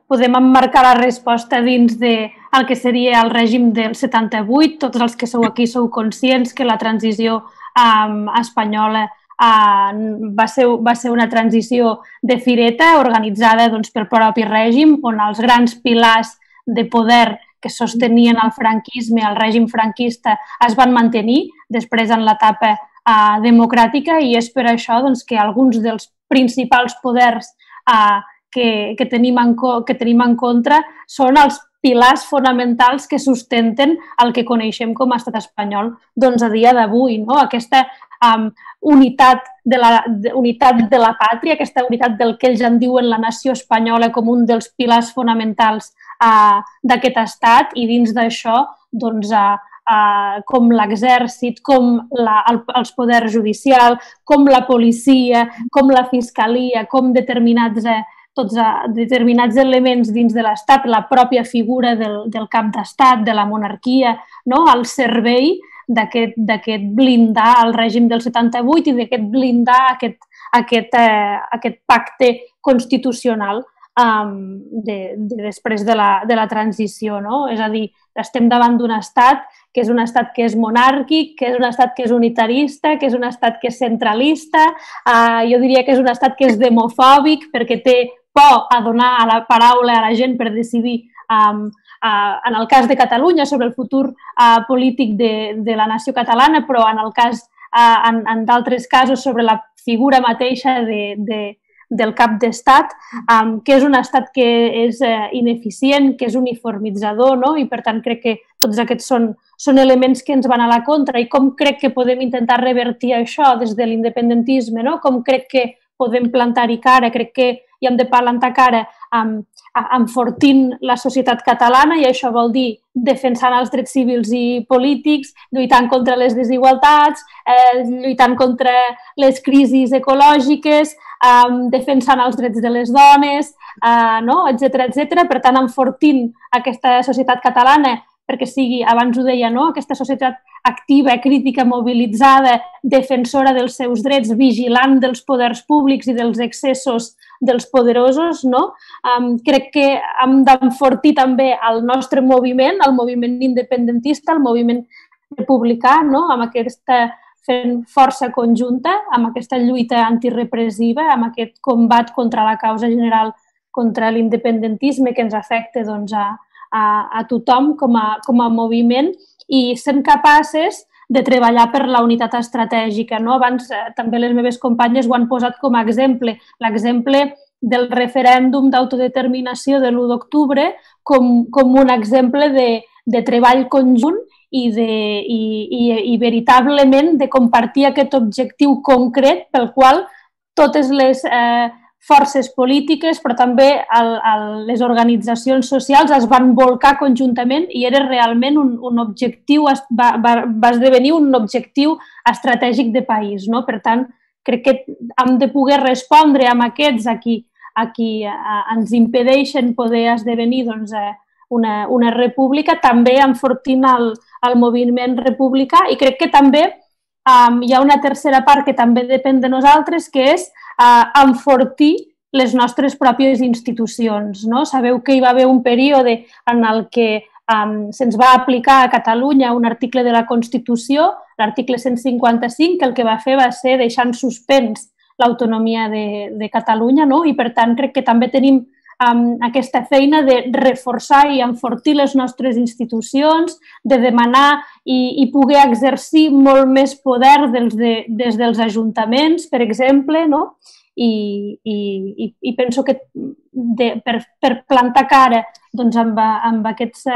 podem emmarcar la resposta dins del que seria el règim del setanta-vuit. Tots els que sou aquí sou conscients que la transició um, espanyola uh, va, ser, va ser una transició de fireta organitzada doncs, pel propi règim, on els grans pilars de poder que sostenien el franquisme, el règim franquista, es van mantenir després en l'etapa Uh, democràtica i és per això doncs, que alguns dels principals poders uh, que, que, tenim en, que tenim en contra són els pilars fonamentals que sustenten el que coneixem com a estat espanyol doncs, a dia d'avui. No? Aquesta um, unitat, de la, de, unitat de la pàtria, aquesta unitat del que ells en diuen la nació espanyola com un dels pilars fonamentals uh, d'aquest estat i dins d'això doncs, uh, Uh, com l'exèrcit, com la, el, els poders judicials, com la policia, com la fiscalia, com determinats, eh, tots, uh, determinats elements dins de l'Estat, la pròpia figura del, del cap d'Estat, de la monarquia, no? Al servei d'aquest blindar el règim del setanta-vuit i d'aquest blindar aquest, aquest, eh, aquest pacte constitucional um, de, de, després de la, de la transició. No? És a dir, estem davant d'un estat que és un estat que és monàrquic, que és un estat que és unitarista, que és un estat que és centralista, uh, jo diria que és un estat que és demofòbic perquè té por a donar a la paraula a la gent per decidir, um, uh, en el cas de Catalunya, sobre el futur uh, polític de, de la nació catalana, però en el cas, uh, en, en d'altres casos, sobre la figura mateixa de, de, del cap d'estat, um, que és un estat que és uh, ineficient, que és uniformitzador, no? I per tant crec que tots aquests són, són elements que ens van a la contra i com crec que podem intentar revertir això des de l'independentisme, no? Com crec que podem plantar-hi cara. Crec que i hem de plantar cara amb, enfortint la societat catalana, i això vol dir defensant els drets civils i polítics, lluitant contra les desigualtats, eh, lluitant contra les crisis ecològiques, eh, defensant els drets de les dones, eh, no? etcètera, etcètera. Per tant, enfortint aquesta societat catalana perquè sigui, abans ho deia, no? aquesta societat activa, crítica, mobilitzada, defensora dels seus drets, vigilant dels poders públics i dels excessos dels poderosos, no? Um, crec que hem d'enfortir també el nostre moviment, el moviment independentista, el moviment republicà, no? Amb aquesta fent força conjunta, amb aquesta lluita antirepressiva, amb aquest combat contra la causa general, contra l'independentisme que ens afecta doncs, a A, a tothom com a, com a moviment i sent capaces de treballar per la unitat estratègica. No? Abans eh, també les meves companyes ho han posat com a exemple. L'exemple del referèndum d'autodeterminació de l'u d'octubre com, com un exemple de, de treball conjunt i, de, i, i, i veritablement de compartir aquest objectiu concret pel qual totes les eh, forces polítiques, però també el, el, les organitzacions socials es van volcar conjuntament i era realment un, un objectiu, va, va, va esdevenir un objectiu estratègic de país. No? Per tant, crec que hem de poder respondre amb aquests a qui, a qui a, ens impedeixen poder esdevenir doncs, una, una república, també enfortint el, el moviment republicà i crec que també um, hi ha una tercera part que també depèn de nosaltres, que és Uh, enfortir les nostres pròpies institucions. No? Sabeu que hi va haver un període en el que um, se'ns va aplicar a Catalunya un article de la Constitució, l'article cent cinquanta-cinc, que el que va fer va ser deixar en suspens l'autonomia de, de Catalunya, no? I per tant crec que també tenim um, aquesta feina de reforçar i enfortir les nostres institucions, de demanar i, i poder exercir molt més poder des, de, des dels ajuntaments, per exemple, no? I, i, i penso que de, per, per plantar cara doncs, amb, amb aquests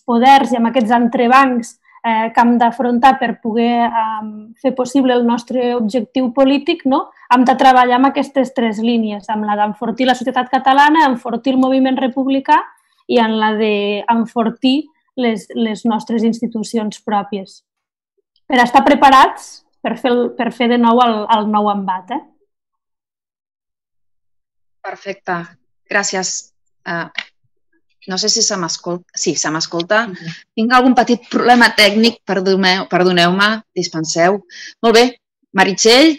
poders i amb aquests entrebancs eh, que hem d'afrontar per poder eh, fer possible el nostre objectiu polític, no? Hem de treballar amb aquestes tres línies, amb la d'enfortir la societat catalana, enfortir el moviment republicà i en la d'enfortir les, les nostres institucions pròpies. Per estar preparats per fer, el, per fer de nou el, el nou embat, eh? Perfecte, gràcies. Uh, no sé si se m'escolta. Sí, se m'escolta. Uh-huh. Tinc algun petit problema tècnic, perdoneu-me, perdoneu-me, dispenseu. Molt bé, Meritxell?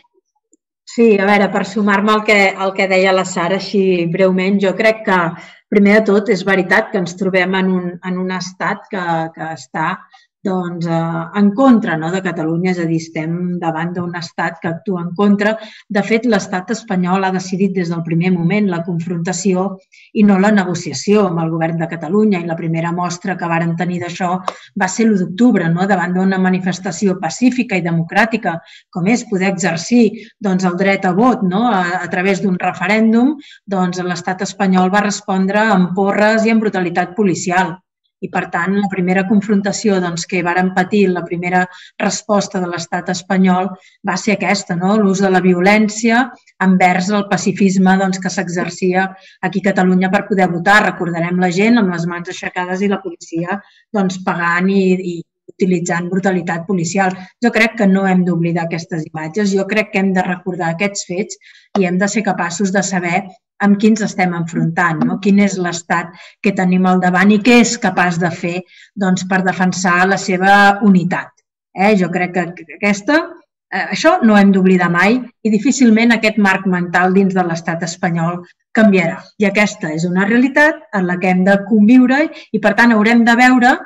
Sí, a veure, per sumar-me al que, al que deia la Sara, així breument, jo crec que, primer de tot, és veritat que ens trobem en un, en un estat que, que està doncs, eh, en contra, no, de Catalunya, és a dir, estem davant d'un estat que actua en contra. De fet, l'estat espanyol ha decidit des del primer moment la confrontació i no la negociació amb el govern de Catalunya, i la primera mostra que varen tenir d'això va ser l'u d'octubre, no, davant d'una manifestació pacífica i democràtica, com és poder exercir doncs, el dret a vot, no, a, a través d'un referèndum, doncs l'estat espanyol va respondre amb porres i amb brutalitat policial. I, per tant, la primera confrontació doncs, que varen patir, la primera resposta de l'estat espanyol va ser aquesta, no? L'ús de la violència envers el pacifisme doncs, que s'exercia aquí a Catalunya per poder votar. Recordarem la gent amb les mans aixecades i la policia doncs, pagant i, i utilitzant brutalitat policial. Jo crec que no hem d'oblidar aquestes imatges, jo crec que hem de recordar aquests fets i hem de ser capaços de saber amb qui ens estem enfrontant, no? Quin és l'estat que tenim al davant i què és capaç de fer doncs, per defensar la seva unitat. Eh? Jo crec que aquesta, eh, això no hem d'oblidar mai i difícilment aquest marc mental dins de l'estat espanyol canviarà. I aquesta és una realitat en la que hem de conviure i, per tant, haurem de veure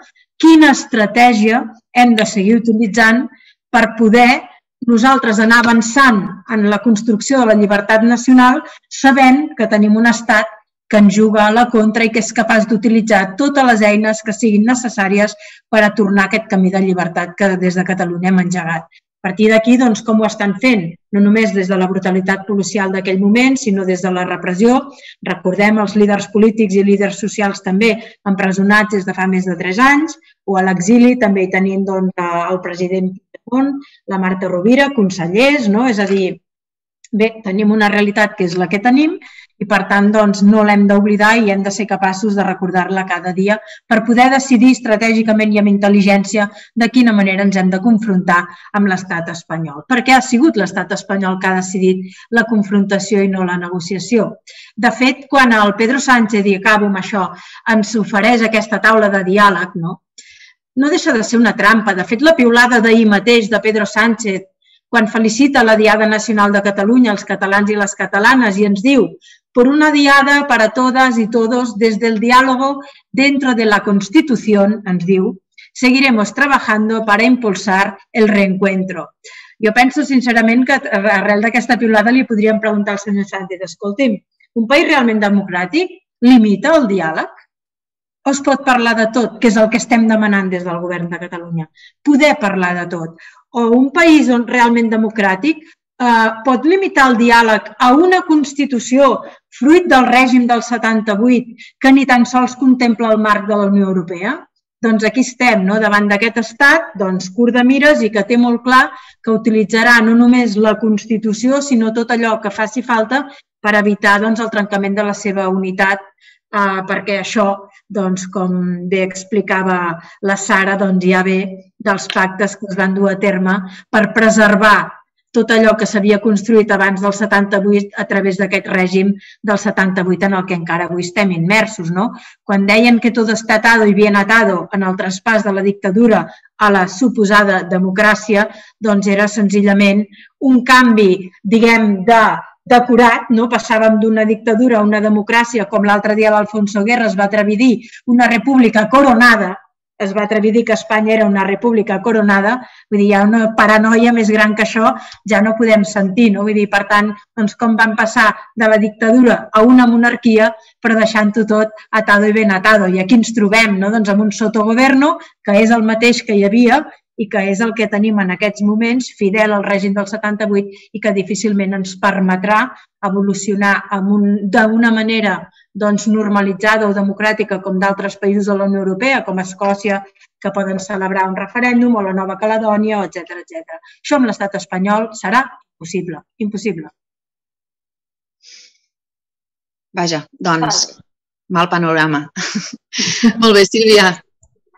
quina estratègia hem de seguir utilitzant per poder nosaltres anar avançant en la construcció de la llibertat nacional sabent que tenim un estat que ens juga a la contra i que és capaç d'utilitzar totes les eines que siguin necessàries per a tornar aquest camí de llibertat que des de Catalunya hem engegat. A partir d'aquí, doncs, com ho estan fent? No només des de la brutalitat policial d'aquell moment, sinó des de la repressió. Recordem els líders polítics i líders socials també empresonats des de fa més de tres anys, o a l'exili també hi tenim doncs, el president Puigdemont, la Marta Rovira, consellers, no? És a dir, Bé, tenim una realitat que és la que tenim i, per tant, doncs, no l'hem d'oblidar i hem de ser capaços de recordar-la cada dia per poder decidir estratègicament i amb intel·ligència de quina manera ens hem de confrontar amb l'estat espanyol. Perquè ha sigut l'estat espanyol que ha decidit la confrontació i no la negociació. De fet, quan el Pedro Sánchez, i acabo amb això, ens ofereix aquesta taula de diàleg, no, no deixa de ser una trampa. De fet, la piulada d'ahir mateix de Pedro Sánchez, quan felicita la Diada Nacional de Catalunya, els catalans i les catalanes, i ens diu «Por una diada para todas y todos, desde el diálogo dentro de la Constitución», ens diu, «seguiremos trabajando para impulsar el reencuentro». Jo penso, sincerament, que arrel d'aquesta piulada li podríem preguntar al senyor Sánchez, escolti'm, un país realment democràtic limita el diàleg? O es pot parlar de tot, que és el que estem demanant des del govern de Catalunya? Poder parlar de tot. O un país realment democràtic eh, pot limitar el diàleg a una Constitució fruit del règim del setanta-vuit que ni tan sols contempla el marc de la Unió Europea? Doncs aquí estem, no? Davant d'aquest estat, doncs, curt de mires i que té molt clar que utilitzarà no només la Constitució, sinó tot allò que faci falta per evitar doncs, el trencament de la seva unitat, eh, perquè això, doncs, com bé explicava la Sara, doncs, ja ve dels pactes que es van dur a terme per preservar tot allò que s'havia construït abans del setanta-vuit a través d'aquest règim del setanta-vuit en el que encara avui estem immersos. No? Quan deien que tot està atado i bien atado en el traspàs de la dictadura a la suposada democràcia, doncs era senzillament un canvi, diguem, de decorat, no? Passàvem d'una dictadura a una democràcia, com l'altre dia l'Alfonso Guerra es va atrevir a dir, una república coronada, es va atrevir a dir que Espanya era una república coronada, vull dir, hi ha una paranoia més gran que això, ja no podem sentir, no? Vull dir, per tant, doncs com van passar de la dictadura a una monarquia, però deixant-ho tot atado i ben atado. I aquí ens trobem, no? Doncs amb un sotogoverno, que és el mateix que hi havia i que és el que tenim en aquests moments, fidel al règim del setanta-vuit i que difícilment ens permetrà evolucionar d'una manera doncs, normalitzada o democràtica com d'altres països de la Unió Europea, com Escòcia, que poden celebrar un referèndum, o la Nova Caledònia, etcètera, etcètera. Això amb l'estat espanyol serà impossible, impossible. Vaja, doncs, mal panorama. Molt bé, Sílvia,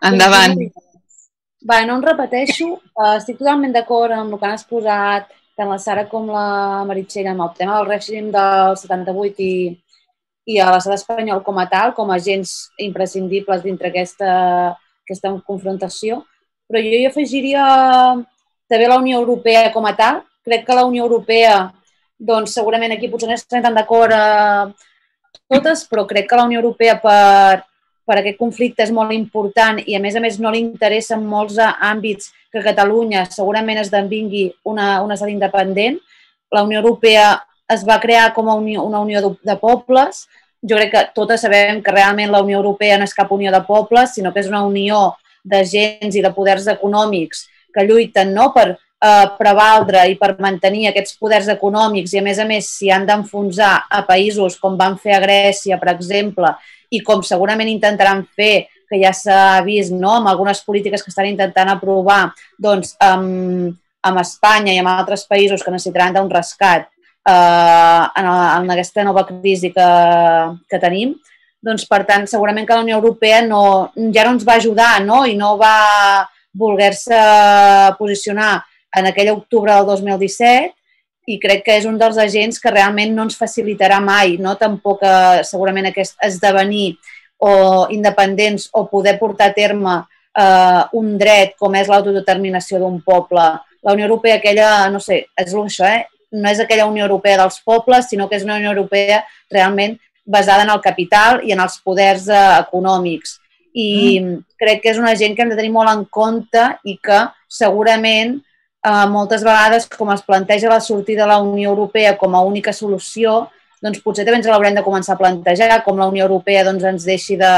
endavant. Bé, no em repeteixo, estic totalment d'acord amb el que han exposat tant la Sara com la Meritxell amb el tema del règim del setanta-vuit i, i a l'estat espanyol com a tal, com a agents imprescindibles dintre aquesta, aquesta confrontació. Però jo hi afegiria també la Unió Europea com a tal. Crec que la Unió Europea, doncs segurament aquí potser no estem tan d'acord a totes, però crec que la Unió Europea per, per aquest conflicte és molt important i a més a més no li interessa en molts àmbits que Catalunya segurament esdevingui una, un estat independent. La Unió Europea es va crear com a unió, una unió de pobles. Jo crec que totes sabem que realment la Unió Europea no és cap unió de pobles, sinó que és una unió d'agents i de poders econòmics que lluiten no, per eh, prevaldre i per mantenir aquests poders econòmics i, a més a més, si han d'enfonsar a països com van fer a Grècia, per exemple, i com segurament intentaran fer, que ja s'ha vist no, amb algunes polítiques que estan intentant aprovar doncs, amb, amb Espanya i amb altres països que necessitaran d'un rescat eh, en, en aquesta nova crisi que, que tenim, doncs, per tant, segurament que la Unió Europea no, ja no ens va ajudar no? I no va voler-se posicionar en aquell octubre del dos mil disset i crec que és un dels agents que realment no ens facilitarà mai, no? Tampoc eh, segurament aquest esdevenir o independents o poder portar a terme eh, un dret com és l'autodeterminació d'un poble. La Unió Europea, aquella, no sé, és això, eh? No és aquella Unió Europea dels pobles, sinó que és una Unió Europea realment basada en el capital i en els poders eh, econòmics. I mm. crec que és una gent que hem de tenir molt en compte i que segurament eh, moltes vegades, com es planteja la sortida de la Unió Europea com a única solució, doncs potser també ens l'haurem de començar a plantejar, com la Unió Europea doncs, ens deixi de,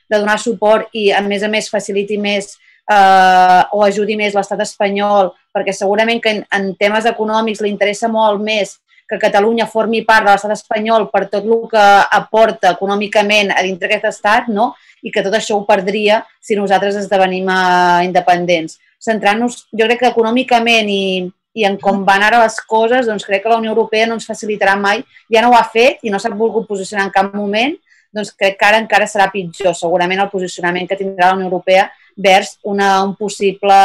de donar suport i, a més a més, faciliti més eh, o ajudi més l'estat espanyol, perquè segurament que en, en temes econòmics li interessa molt més que Catalunya formi part de l'estat espanyol per tot el que aporta econòmicament a dintre d'aquest estat, no? I que tot això ho perdria si nosaltres esdevenim eh, independents. Centrant-nos, jo crec que econòmicament i, i en com van ara les coses, doncs crec que la Unió Europea no ens facilitarà mai, ja no ho ha fet i no s'ha volgut posicionar en cap moment, doncs crec que ara encara serà pitjor, segurament el posicionament que tindrà la Unió Europea vers una, un possible,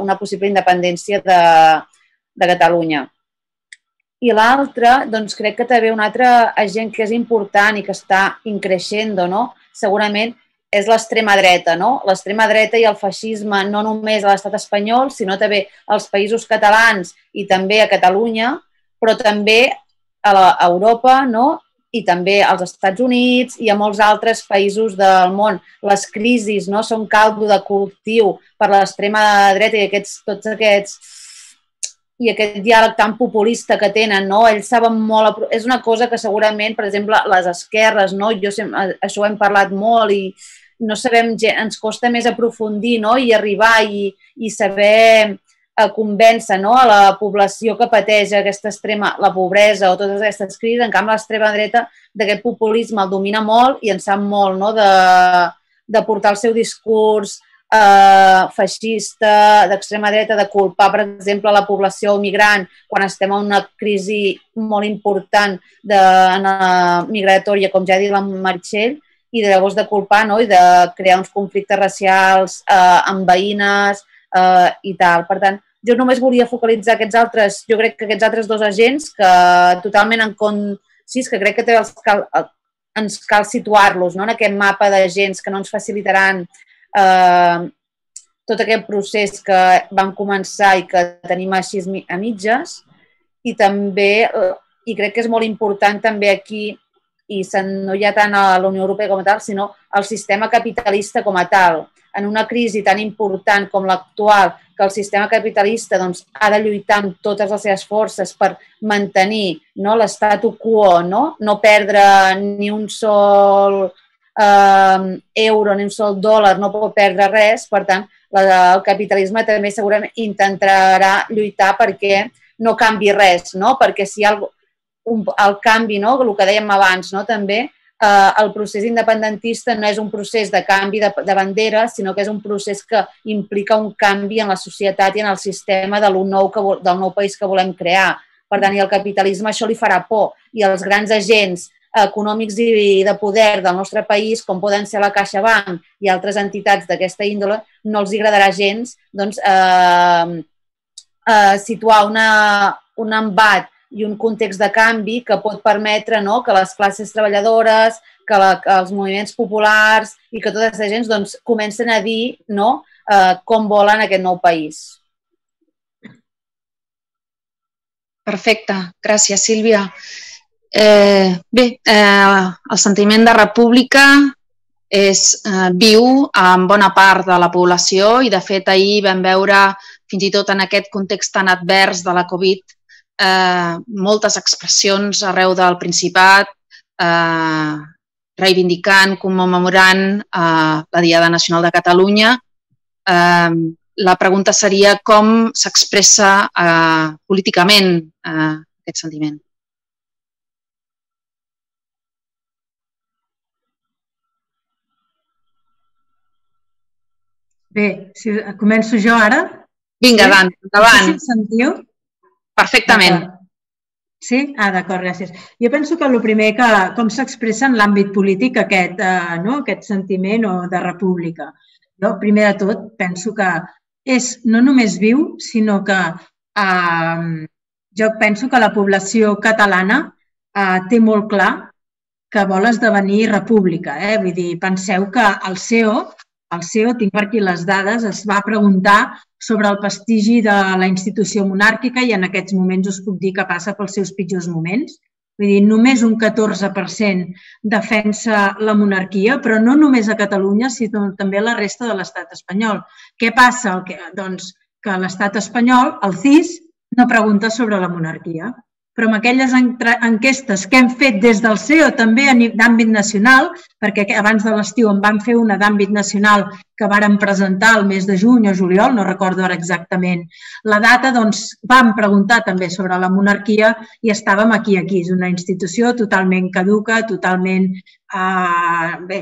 una possible independència de, de Catalunya. I l'altre, doncs crec que també un altre agent que és important i que està increixent, no? Segurament és l'extrema dreta, no? L'extrema dreta i el feixisme no només a l'estat espanyol, sinó també als països catalans i també a Catalunya, però també a, la, a Europa, no? I també als Estats Units i a molts altres països del món. Les crisis, no? Són caldo de cultiu per l'extrema dreta i aquests, tots aquests i aquest diàleg tan populista que tenen, no? Ells saben molt... És una cosa que segurament, per exemple, les esquerres, no? Jo sempre, això ho hem parlat molt i no sabem, ens costa més aprofundir, no? I arribar i, i saber convèncer, no? A la població que pateix aquesta extrema, la pobresa o totes aquestes crisis. En canvi, l'extrema dreta d'aquest populisme el domina molt i en sap molt, no? De, de portar el seu discurs Uh, feixista, d'extrema dreta, de culpar, per exemple, la població migrant quan estem en una crisi molt important de, uh, migratòria, com ja ha dit la Meritxell, i de llavors de culpar, no? I de crear uns conflictes racials uh, amb veïnes uh, i tal. Per tant, jo només volia focalitzar aquests altres, jo crec que aquests altres dos agents que totalment en con... Sí, és que crec que també els cal, ens cal situar-los, no? En aquest mapa d'agents que no ens facilitaran Uh, tot aquest procés que vam començar i que tenim així a mitges i també, uh, i crec que és molt important també aquí, i no hi ha tant a la Unió Europea com a tal, sinó el sistema capitalista com a tal. En una crisi tan important com l'actual, que el sistema capitalista doncs, ha de lluitar amb totes les seves forces per mantenir, no, l'statu quo, no? No perdre ni un sol... Uh, euro ni un sol dòlar, no pot perdre res, per tant, la, el capitalisme també segurament intentarà lluitar perquè no canvi res, no? Perquè si hi ha un, el canvi, no? El que dèiem abans, no? També uh, el procés independentista no és un procés de canvi de, de bandera, sinó que és un procés que implica un canvi en la societat i en el sistema de nou que, del nou país que volem crear. Per tant, i el capitalisme això li farà por i els grans agents econòmics i de poder del nostre país, com poden ser la CaixaBank i altres entitats d'aquesta índole, no els agradarà gens doncs, eh, eh, situar una, un embat i un context de canvi que pot permetre, no, que les classes treballadores, que, la, que els moviments populars i que tota aquesta gent doncs, comencen a dir, no, eh, com volen aquest nou país. Perfecte. Gràcies, Sílvia. Eh, bé, eh, el sentiment de república és eh, viu en bona part de la població i, de fet, ahir vam veure, fins i tot en aquest context tan advers de la Covid, eh, moltes expressions arreu del Principat, eh, reivindicant, commemorant eh, la Diada Nacional de Catalunya. Eh, la pregunta seria com s'expressa eh, políticament eh, aquest sentiment. Bé, si començo jo ara. Vinga, sí? Endavant. No sé si em sentiu? Perfectament. Sí? Ah, d'acord, gràcies. Jo penso que el primer, que com s'expressa en l'àmbit polític aquest, eh, no? Aquest sentiment o de república. Jo, primer de tot, penso que és no només viu, sinó que eh, jo penso que la població catalana eh, té molt clar que vol esdevenir república. Eh? Vull dir, penseu que el C E O El C E O, tinc per aquí les dades, es va preguntar sobre el prestigi de la institució monàrquica i en aquests moments us puc dir que passa pels seus pitjors moments. Vull dir, només un catorze per cent defensa la monarquia, però no només a Catalunya, sinó també a la resta de l'estat espanyol. Què passa? Doncs que l'estat espanyol, el C I S, no pregunta sobre la monarquia. Però amb aquelles enquestes que hem fet des del C E O també d'àmbit nacional, perquè abans de l'estiu en vam fer una d'àmbit nacional que varen presentar el mes de juny o juliol, no recordo ara exactament la data, doncs vam preguntar també sobre la monarquia i estàvem aquí, aquí. És una institució totalment caduca, totalment eh, bé,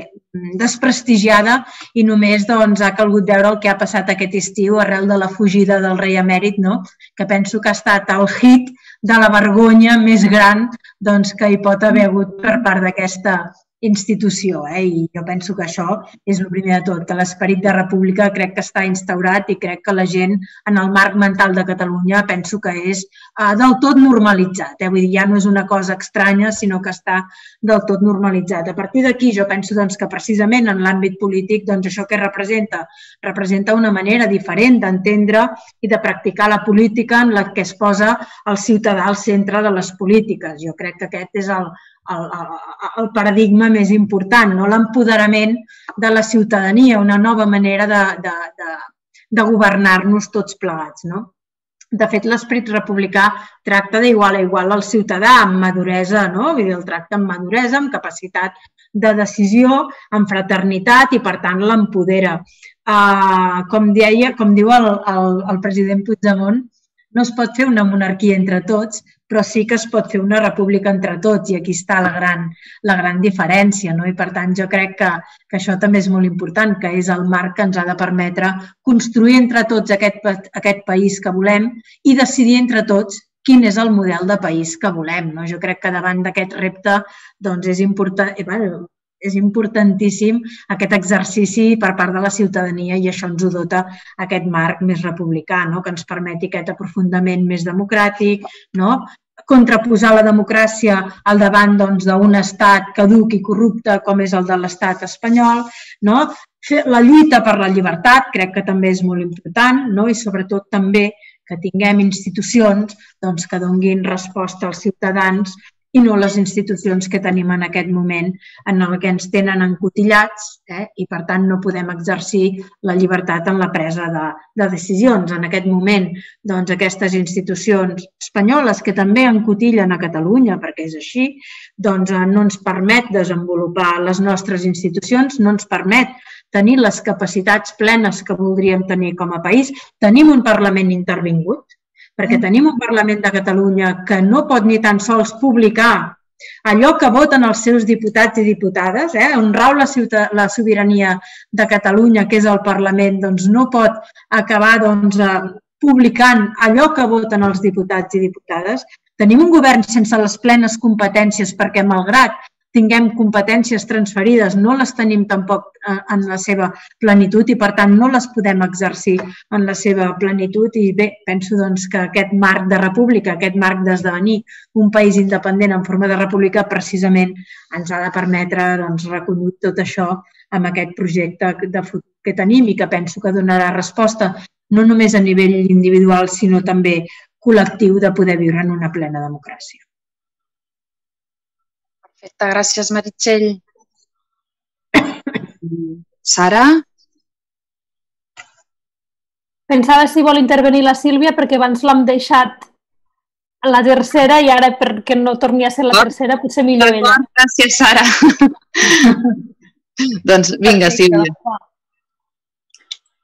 desprestigiada i només doncs, ha calgut veure el que ha passat aquest estiu arrel de la fugida del rei emèrit, no? Que penso que ha estat el hit de la vergonya més gran doncs, que hi pot haver hagut per part d'aquesta institució. Eh? I jo penso que això és el primer de tot, que l'esperit de república crec que està instaurat i crec que la gent en el marc mental de Catalunya penso que és eh, del tot normalitzat. Eh? Vull dir, ja no és una cosa estranya, sinó que està del tot normalitzat. A partir d'aquí jo penso doncs, que precisament en l'àmbit polític doncs, això que representa? Representa una manera diferent d'entendre i de practicar la política en la que es posa el ciutadà al centre de les polítiques. Jo crec que aquest és el El, el paradigma més important, no? L'empoderament de la ciutadania, una nova manera de, de, de, de governar-nos tots plegats. No? De fet, l'esperit republicà tracta d'igual a igual al ciutadà amb maduresa, no? Vull dir, el tracta amb maduresa, amb capacitat de decisió, amb fraternitat i, per tant, l'empodera. Uh, com deia, com diu el, el, el president Puigdemont, no es pot fer una monarquia entre tots, però sí que es pot fer una república entre tots i aquí està la gran, la gran diferència. No? I per tant jo crec que, que això també és molt important, que és el marc que ens ha de permetre construir entre tots aquest, aquest país que volem i decidir entre tots quin és el model de país que volem. No? Jo crec que davant d'aquest repte doncs és important, eh, bueno, és importantíssim aquest exercici per part de la ciutadania i això ens ho dota aquest marc més republicà, no? Que ens permeti aquest aprofundiment més democràtic, no? Contraposar la democràcia al davant doncs, d'un estat caduc i corrupte com és el de l'estat espanyol, no? Fer la lluita per la llibertat crec que també és molt important, no? I sobretot també que tinguem institucions doncs, que donguin resposta als ciutadans i no les institucions que tenim en aquest moment en el que ens tenen encotillats eh? I per tant no podem exercir la llibertat en la presa de, de decisions. En aquest moment doncs, aquestes institucions espanyoles que també encotillen a Catalunya, perquè és així, doncs, no ens permet desenvolupar les nostres institucions, no ens permet tenir les capacitats plenes que voldríem tenir com a país. Tenim un Parlament intervingut, perquè tenim un Parlament de Catalunya que no pot ni tan sols publicar allò que voten els seus diputats i diputades, eh? On rau la, la sobirania de Catalunya, que és el Parlament, doncs no pot acabar doncs, publicant allò que voten els diputats i diputades. Tenim un govern sense les plenes competències perquè, malgrat tinguem competències transferides, no les tenim tampoc en la seva plenitud i, per tant, no les podem exercir en la seva plenitud. I bé, penso doncs, que aquest marc de república, aquest marc d'esdevenir un país independent en forma de república, precisament ens ha de permetre doncs, recollir tot això amb aquest projecte de futur que tenim i que penso que donarà resposta no només a nivell individual, sinó també col·lectiu de poder viure en una plena democràcia. Perfecte, gràcies, Meritxell. Sara? Pensava si vol intervenir la Sílvia perquè abans l'hem deixat a la tercera i ara perquè no torni a ser la tercera potser millor ella. Gràcies, Sara. Doncs vinga, Sílvia.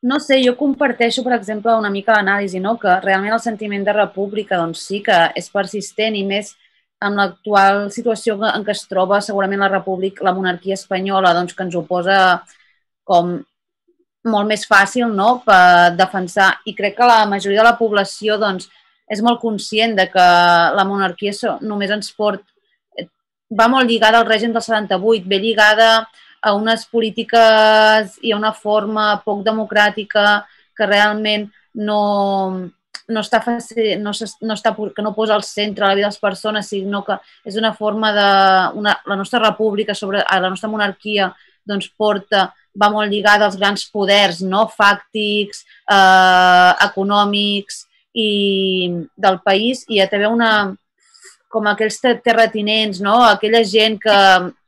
No sé, jo comparteixo, per exemple, una mica l'anàlisi, no? Que realment el sentiment de república doncs, sí que és persistent i més en l'actual situació en què es troba segurament la república, la monarquia espanyola, doncs, que ens ho posa com molt més fàcil no? Per defensar. I crec que la majoria de la població doncs, és molt conscient de que la monarquia només ens porta, va molt lligada al règim del setanta-vuit, ve lligada a unes polítiques i a una forma poc democràtica que realment no... no està fàcil, no no està, que no posa al centre la vida de les persones, sinó que és una forma de... Una, la nostra república, sobre la nostra monarquia, doncs porta, va molt lligada als grans poders, no? Fàctics, eh, econòmics i del país, i hi ha també una... com aquells terratinents, no? Aquella gent que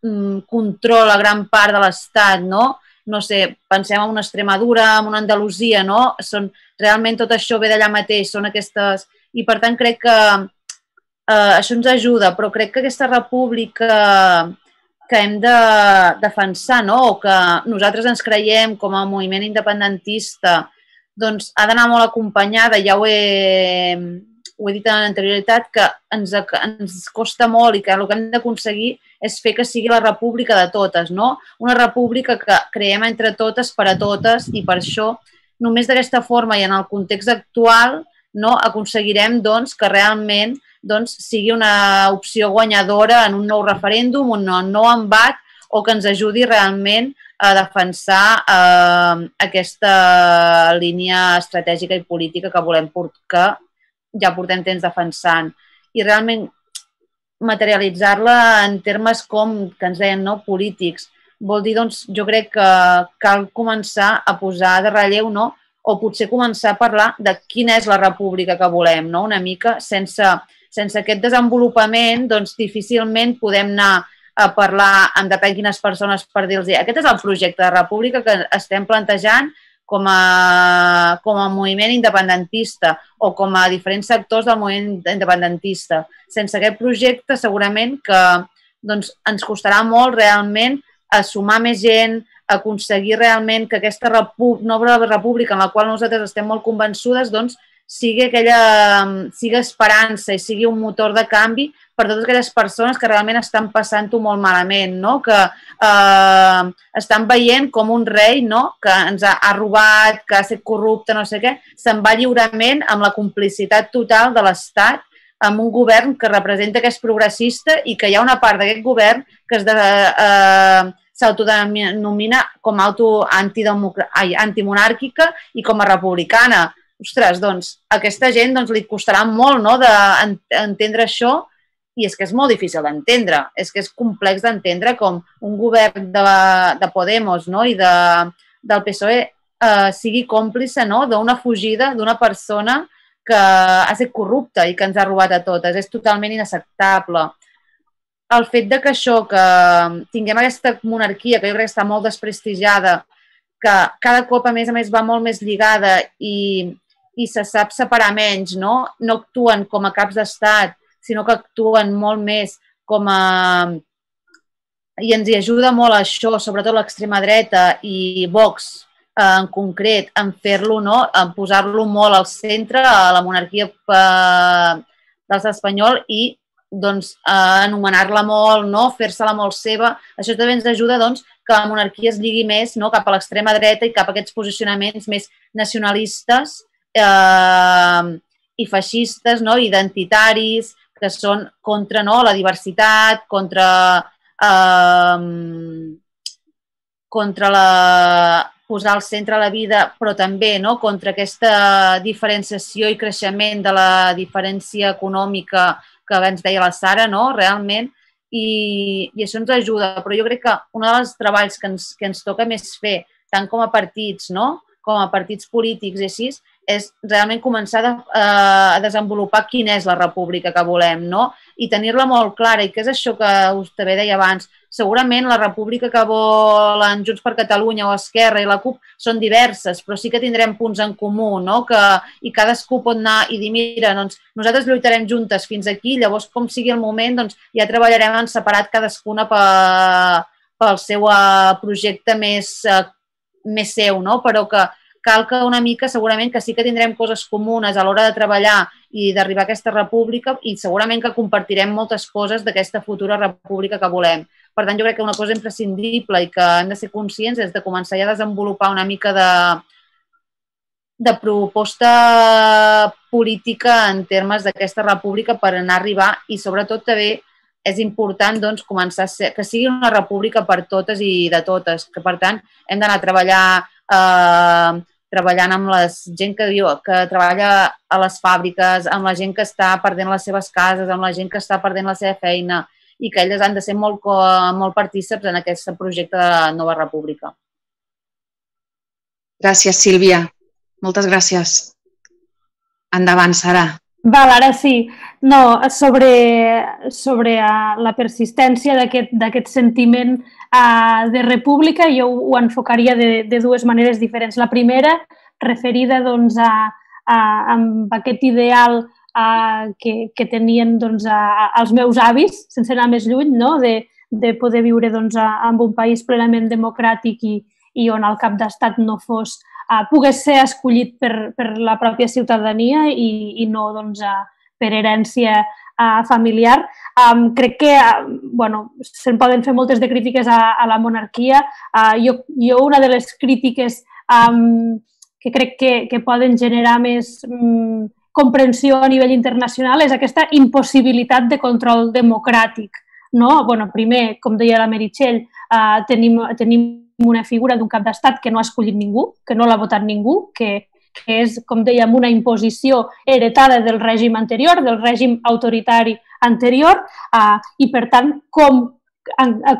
mm, controla gran part de l'Estat, no? No sé, pensem en una Extremadura, en una Andalusia, no? Són, realment tot això ve d'allà mateix, són aquestes... I per tant crec que eh, això ens ajuda, però crec que aquesta república que hem de defensar, no? O que nosaltres ens creiem com a moviment independentista, doncs ha d'anar molt acompanyada, ja ho he, ho he dit en l'anterioritat, que ens, ens costa molt i que el que hem d'aconseguir és fer que sigui la república de totes, no? Una república que creem entre totes per a totes i per això només d'aquesta forma i en el context actual no, aconseguirem doncs, que realment doncs, sigui una opció guanyadora en un nou referèndum, un nou embat o que ens ajudi realment a defensar eh, aquesta línia estratègica i política que volem que ja portem temps defensant. I realment materialitzar-la en termes com, que ens deien, no, polítics, vol dir, doncs, jo crec que cal començar a posar de relleu, no?, o potser començar a parlar de quina és la república que volem, no?, una mica, sense, sense aquest desenvolupament, doncs, difícilment podem anar a parlar amb depèn quines persones per dir-los aquest és el projecte de república que estem plantejant com a, com a moviment independentista o com a diferents sectors del moviment independentista. Sense aquest projecte segurament que doncs, ens costarà molt realment a sumar més gent, aconseguir realment que aquesta nova república en la qual nosaltres estem molt convençudes doncs, sigui, aquella, sigui esperança i sigui un motor de canvi per totes aquelles persones que realment estan passant-ho molt malament, no? Que eh, estan veient com un rei no? Que ens ha, ha robat, que ha estat corrupte, no sé què, se'n va lliurement amb la complicitat total de l'Estat amb un govern que representa que és progressista i que hi ha una part d'aquest govern que es de, eh, s'autodenomina com auto antimonàrquica i com a republicana. Ostres, doncs, a aquesta gent doncs, li costarà molt no, d'entendre això i és que és molt difícil d'entendre. És que és complex d'entendre com un govern de, de Podemos no, i de, del P S O E eh, sigui còmplice no, d'una fugida d'una persona que ha estat corrupta i que ens ha robat a totes. És totalment inacceptable. El fet de que això, que tinguem aquesta monarquia, que jo crec que està molt desprestigiada, que cada cop, a més a més, va molt més lligada i, i se sap separar menys, no? No actuen com a caps d'estat, sinó que actuen molt més com a... I ens hi ajuda molt això, sobretot l'extrema dreta i Vox en concret, en fer-lo, no? En posar-lo molt al centre, a la monarquia de l'estat espanyol i doncs, eh, anomenar-la molt, no? Fer-se-la molt seva. Això també ens ajuda doncs, que la monarquia es lligui més no? Cap a l'extrema dreta i cap a aquests posicionaments més nacionalistes eh, i feixistes, no? Identitaris, que són contra no? La diversitat, contra, eh, contra la, posar al centre la vida, però també no? Contra aquesta diferenciació i creixement de la diferència econòmica que abans deia la Sara, no? Realment, i, i això ens ajuda. Però jo crec que un dels treballs que ens, que ens toca més fer, tant com a partits, no? Com a partits polítics i així, és realment començar a, a desenvolupar quina és la república que volem, no? I tenir-la molt clara. I què és això que us també deia abans? Segurament la república que volen Junts per Catalunya o Esquerra i la CUP són diverses, però sí que tindrem punts en comú, no? Que, i cadascú pot anar i dir, mira, doncs, nosaltres lluitarem juntes fins aquí, llavors com sigui el moment, doncs, ja treballarem en separat cadascuna pel seu projecte més, més seu, no? Però que cal que una mica, segurament que sí que tindrem coses comunes a l'hora de treballar i d'arribar a aquesta república i segurament que compartirem moltes coses d'aquesta futura república que volem. Per tant, jo crec que una cosa imprescindible i que hem de ser conscients és de començar ja a desenvolupar una mica de, de proposta política en termes d'aquesta república per anar a arribar i sobretot també és important doncs, començar a ser, que sigui una república per totes i de totes, que per tant hem d'anar a treballar eh, treballant amb la gent que, diu, que treballa a les fàbriques, amb la gent que està perdent les seves cases, amb la gent que està perdent la seva feina i que elles han de ser molt, molt partíceps en aquest projecte de nova república. Gràcies, Sílvia. Moltes gràcies. Endavant, Sara. Val, ara sí. No, sobre, sobre la persistència d'aquest sentiment de república, jo ho enfocaria de, de dues maneres diferents. La primera, referida doncs, a, a, a aquest ideal a, que, que tenien doncs, a, als meus avis, sense anar més lluny, no? de, de poder viure doncs, en un país plenament democràtic i, i on el cap d'estat no fos, uh, pogués ser escollit per, per la pròpia ciutadania i, i no doncs, uh, per herència uh, familiar. Um, crec que uh, bueno, se'n poden fer moltes de crítiques a, a la monarquia. Uh, jo, jo una de les crítiques um, que crec que, que poden generar més um, comprensió a nivell internacional és aquesta impossibilitat de control democràtic. No? Bueno, primer, com deia la Meritxell, uh, tenim, tenim una figura d'un cap d'estat que no ha escollit ningú, que no l'ha votat ningú, que, que és, com dèiem, una imposició heretada del règim anterior, del règim autoritari anterior, uh, i per tant, com,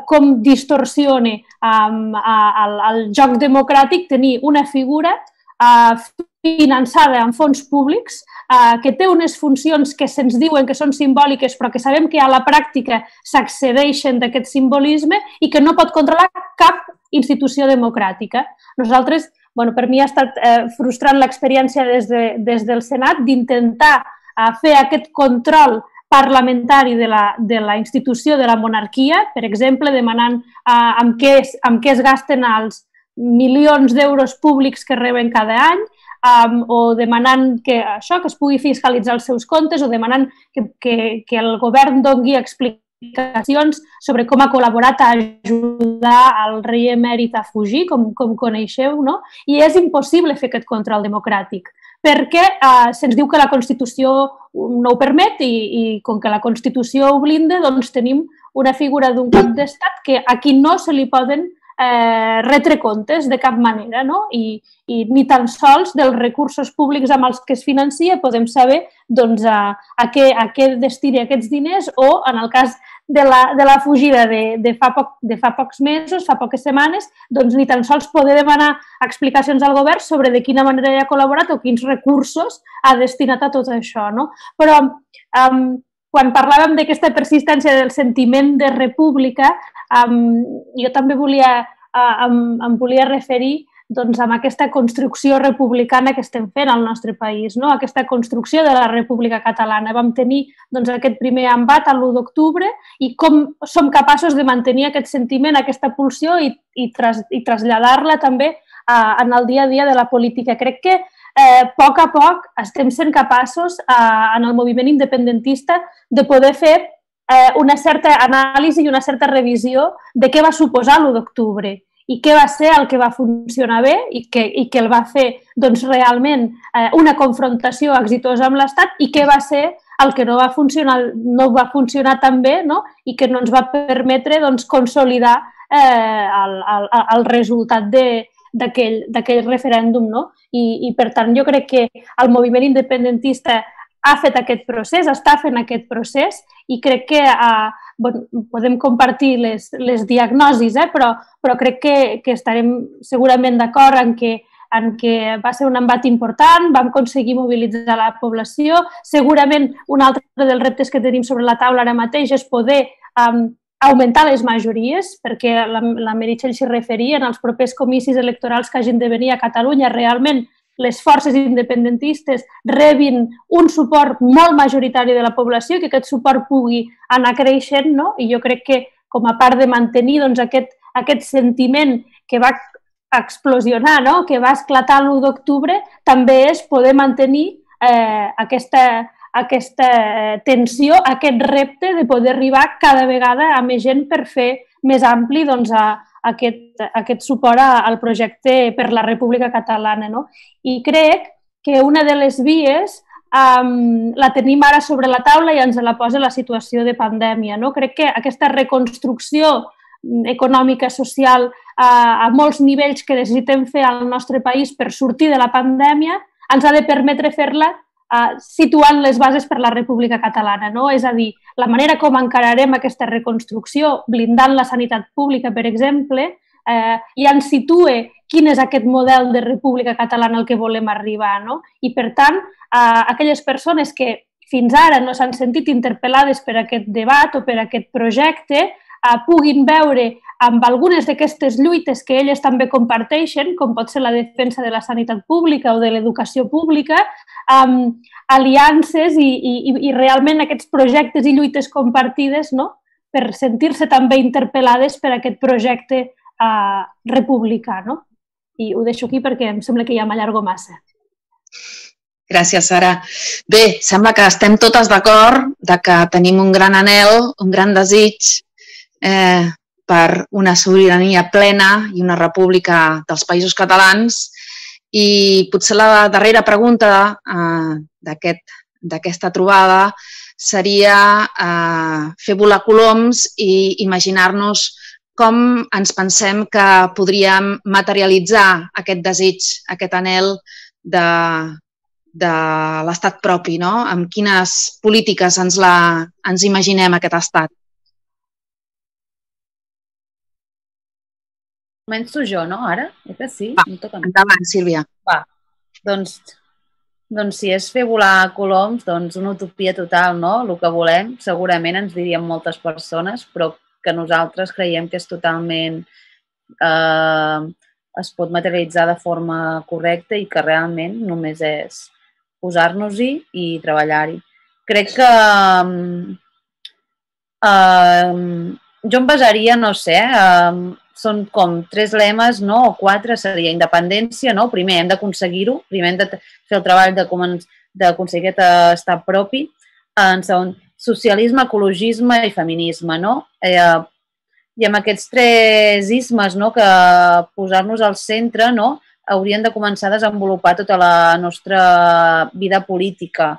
com distorsiona um, el, el joc democràtic tenir una figura uh, finançada amb fons públics, uh, que té unes funcions que se'ns diuen que són simbòliques, però que sabem que a la pràctica s'accedeixen d'aquest simbolisme i que no pot controlar cap institució democràtica. Nosaltres, bueno, per mi ha estat eh, frustrant l'experiència des, de, des del Senat d'intentar eh, fer aquest control parlamentari de la, de la institució de la monarquia, per exemple, demanant eh, amb, què es, amb què es gasten els milions d'euros públics que reben cada any, um, o demanant que, això, que es pugui fiscalitzar els seus comptes, o demanant que, que, que el govern doni explicacions sobre com ha col·laborat a ajudar el rei emèrit a fugir, com, com coneixeu, no? I és impossible fer aquest control democràtic, perquè eh, se'ns diu que la Constitució no ho permet i, i com que la Constitució ho blinda, doncs tenim una figura d'un cap d'estat que a qui no se li poden eh, retre comptes de cap manera, no? I, i ni tan sols dels recursos públics amb els que es financia podem saber doncs, a, a, què, a què destini aquests diners o, en el cas de la, de la fugida de, de, fa poc, de fa pocs mesos, fa poques setmanes, doncs ni tan sols poder demanar explicacions al govern sobre de quina manera hi ha col·laborat o quins recursos ha destinat a tot això, no? Però um, quan parlàvem d'aquesta persistència del sentiment de república, um, jo també volia, uh, em, em volia referir doncs, amb aquesta construcció republicana que estem fent al nostre país, no? Aquesta construcció de la República Catalana. Vam tenir doncs, aquest primer embat l'u d'octubre i com som capaços de mantenir aquest sentiment, aquesta pulsió i, i, tras, i traslladar-la també uh, en el dia a dia de la política. Crec que eh, a poc a poc estem sent capaços uh, en el moviment independentista de poder fer eh, una certa anàlisi i una certa revisió de què va suposar l'u d'octubre i què va ser el que va funcionar bé i que, i que el va fer doncs, realment eh, una confrontació exitosa amb l'Estat i què va ser el que no va funcionar, no va funcionar tan bé, no? I que no ens va permetre doncs, consolidar eh, el, el, el resultat d'aquell referèndum. No? I, I per tant jo crec que el moviment independentista ha fet aquest procés, està fent aquest procés i crec que eh, bueno, podem compartir les, les diagnosis, eh, però, però crec que, que estarem segurament d'acord en que, en que va ser un embat important, vam aconseguir mobilitzar la població. Segurament un altre dels reptes que tenim sobre la taula ara mateix és poder um, augmentar les majories, perquè la, la Meritxell s'hi referia, en els propers comicis electorals que hagin de venir a Catalunya realment les forces independentistes rebin un suport molt majoritari de la població i que aquest suport pugui anar creixent, no? I jo crec que com a part de mantenir doncs, aquest, aquest sentiment que va explosionar, no? Que va esclatar l'u d'octubre, també és poder mantenir eh, aquesta, aquesta tensió, aquest repte de poder arribar cada vegada a més gent per fer més ampli doncs, a, Aquest, aquest suport al projecte per la República Catalana. No? I crec que una de les vies um, la tenim ara sobre la taula i ens la posa la situació de pandèmia. No? Crec que aquesta reconstrucció econòmica, social, uh, a molts nivells que necessitem fer al nostre país per sortir de la pandèmia, ens ha de permetre fer-la Uh, situant les bases per la República Catalana. No? És a dir, la manera com encararem aquesta reconstrucció, blindant la sanitat pública, per exemple, eh, ja ens situa quin és aquest model de República Catalana al que volem arribar. No? I, per tant, uh, aquelles persones que fins ara no s'han sentit interpel·lades per aquest debat o per aquest projecte, Uh, puguin veure amb algunes d'aquestes lluites que elles també comparteixen, com pot ser la defensa de la sanitat pública o de l'educació pública, um, aliances i, i, i realment aquests projectes i lluites compartides, no? per sentir-se també interpel·lades per aquest projecte eh, republicà, no? I ho deixo aquí perquè em sembla que ja m'allargo massa. Gràcies, Sara. Bé, sembla que estem totes d'acord de que tenim un gran anhel, un gran desig eh, per una sobirania plena i una república dels països catalans. I potser la darrera pregunta eh, d'aquesta trobada seria eh, fer volar coloms i imaginar-nos com ens pensem que podríem materialitzar aquest desig, aquest anhel de, de l'estat propi, no? Amb quines polítiques ens, la, ens imaginem aquest estat? Començo jo, no, ara? Eh que sí? Va, endavant, Sílvia. Va, doncs, doncs si és fer volar coloms, doncs una utopia total, no? El que volem, segurament ens dirien moltes persones, però que nosaltres creiem que és totalment, eh, es pot materialitzar de forma correcta i que realment només és posar-nos-hi i treballar-hi. Crec que eh, jo em basaria, no sé, eh, són com tres lemes, no? O quatre, seria independència, no? Primer hem d'aconseguir-ho, primer hem de fer el treball d'aconseguir aquest estat propi. En segon, socialisme, ecologisme i feminisme, no? Eh, I amb aquests tres ismes, no? Que posar-nos al centre, no? Haurien de començar a desenvolupar tota la nostra vida política.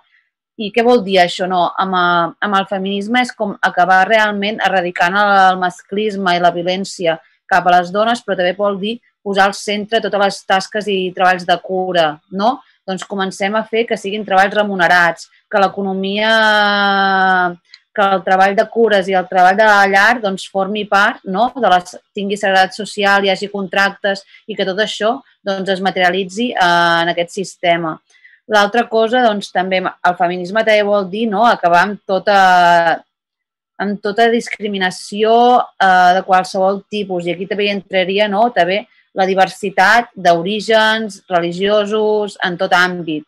I què vol dir això? No? Amb, amb el feminisme és com acabar realment erradicant el masclisme i la violència cap a les dones, però també vol dir posar al centre totes les tasques i treballs de cura, no? Doncs comencem a fer que siguin treballs remunerats, que l'economia, que el treball de cures i el treball de la llar doncs, formi part, no? De les, tingui seguretat social, hi hagi contractes i que tot això doncs, es materialitzi en aquest sistema. L'altra cosa, doncs, també, el feminisme també vol dir, no? Acabar amb tota, amb tota discriminació eh, de qualsevol tipus. I aquí també hi entraria, no? També la diversitat d'orígens religiosos en tot àmbit.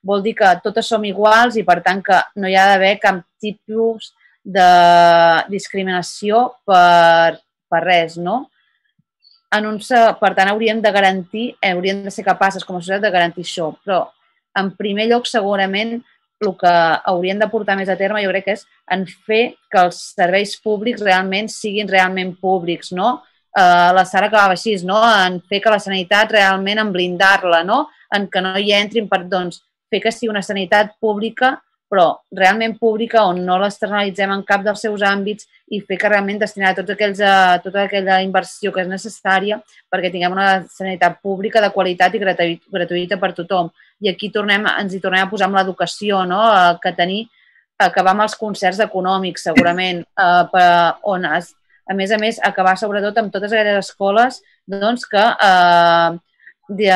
Vol dir que totes som iguals i, per tant, que no hi ha d'haver cap tipus de discriminació per, per res, no? En un, per tant, hauríem de garantir, hauríem de ser capaces com a societat de garantir això. Però, en primer lloc, segurament, el que hauríem de portar més a terme, jo crec que és en fer que els serveis públics realment siguin realment públics, no? Uh, la Sara acabava així, no? En fer que la sanitat realment, en blindar-la, no? En que no hi entrin, per, doncs, fer que sigui una sanitat pública, però realment pública, on no l'externalitzem en cap dels seus àmbits i fer que realment destinar tots aquells, a, tota aquella inversió que és necessària perquè tinguem una sanitat pública de qualitat i gratuïta per tothom. I aquí tornem, ens hi tornem a posar amb l'educació, no? Que tenir, acabar amb els concerts econòmics, segurament, uh, per, on es, a més a més, acabar sobretot amb totes aquelles escoles doncs, que, eh, de,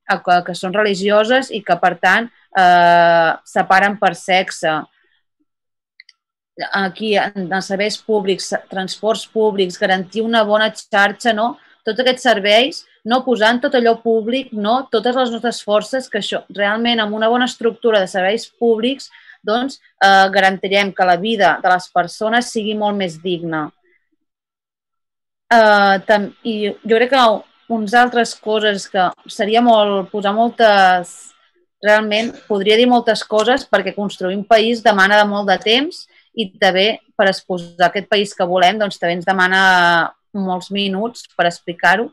que, que són religioses i que, per tant, eh, separen per sexe. Aquí, en els serveis públics, transports públics, garantir una bona xarxa, no? Tots aquests serveis, no posant tot allò públic, no? Totes les nostres forces, que això realment amb una bona estructura de serveis públics doncs eh, garantirem que la vida de les persones sigui molt més digna. Eh, tam, I jo crec que uns altres coses que seria molt, posar moltes, realment podria dir moltes coses perquè construir un país demana de molt de temps i també per exposar aquest país que volem doncs també ens demana molts minuts per explicar-ho.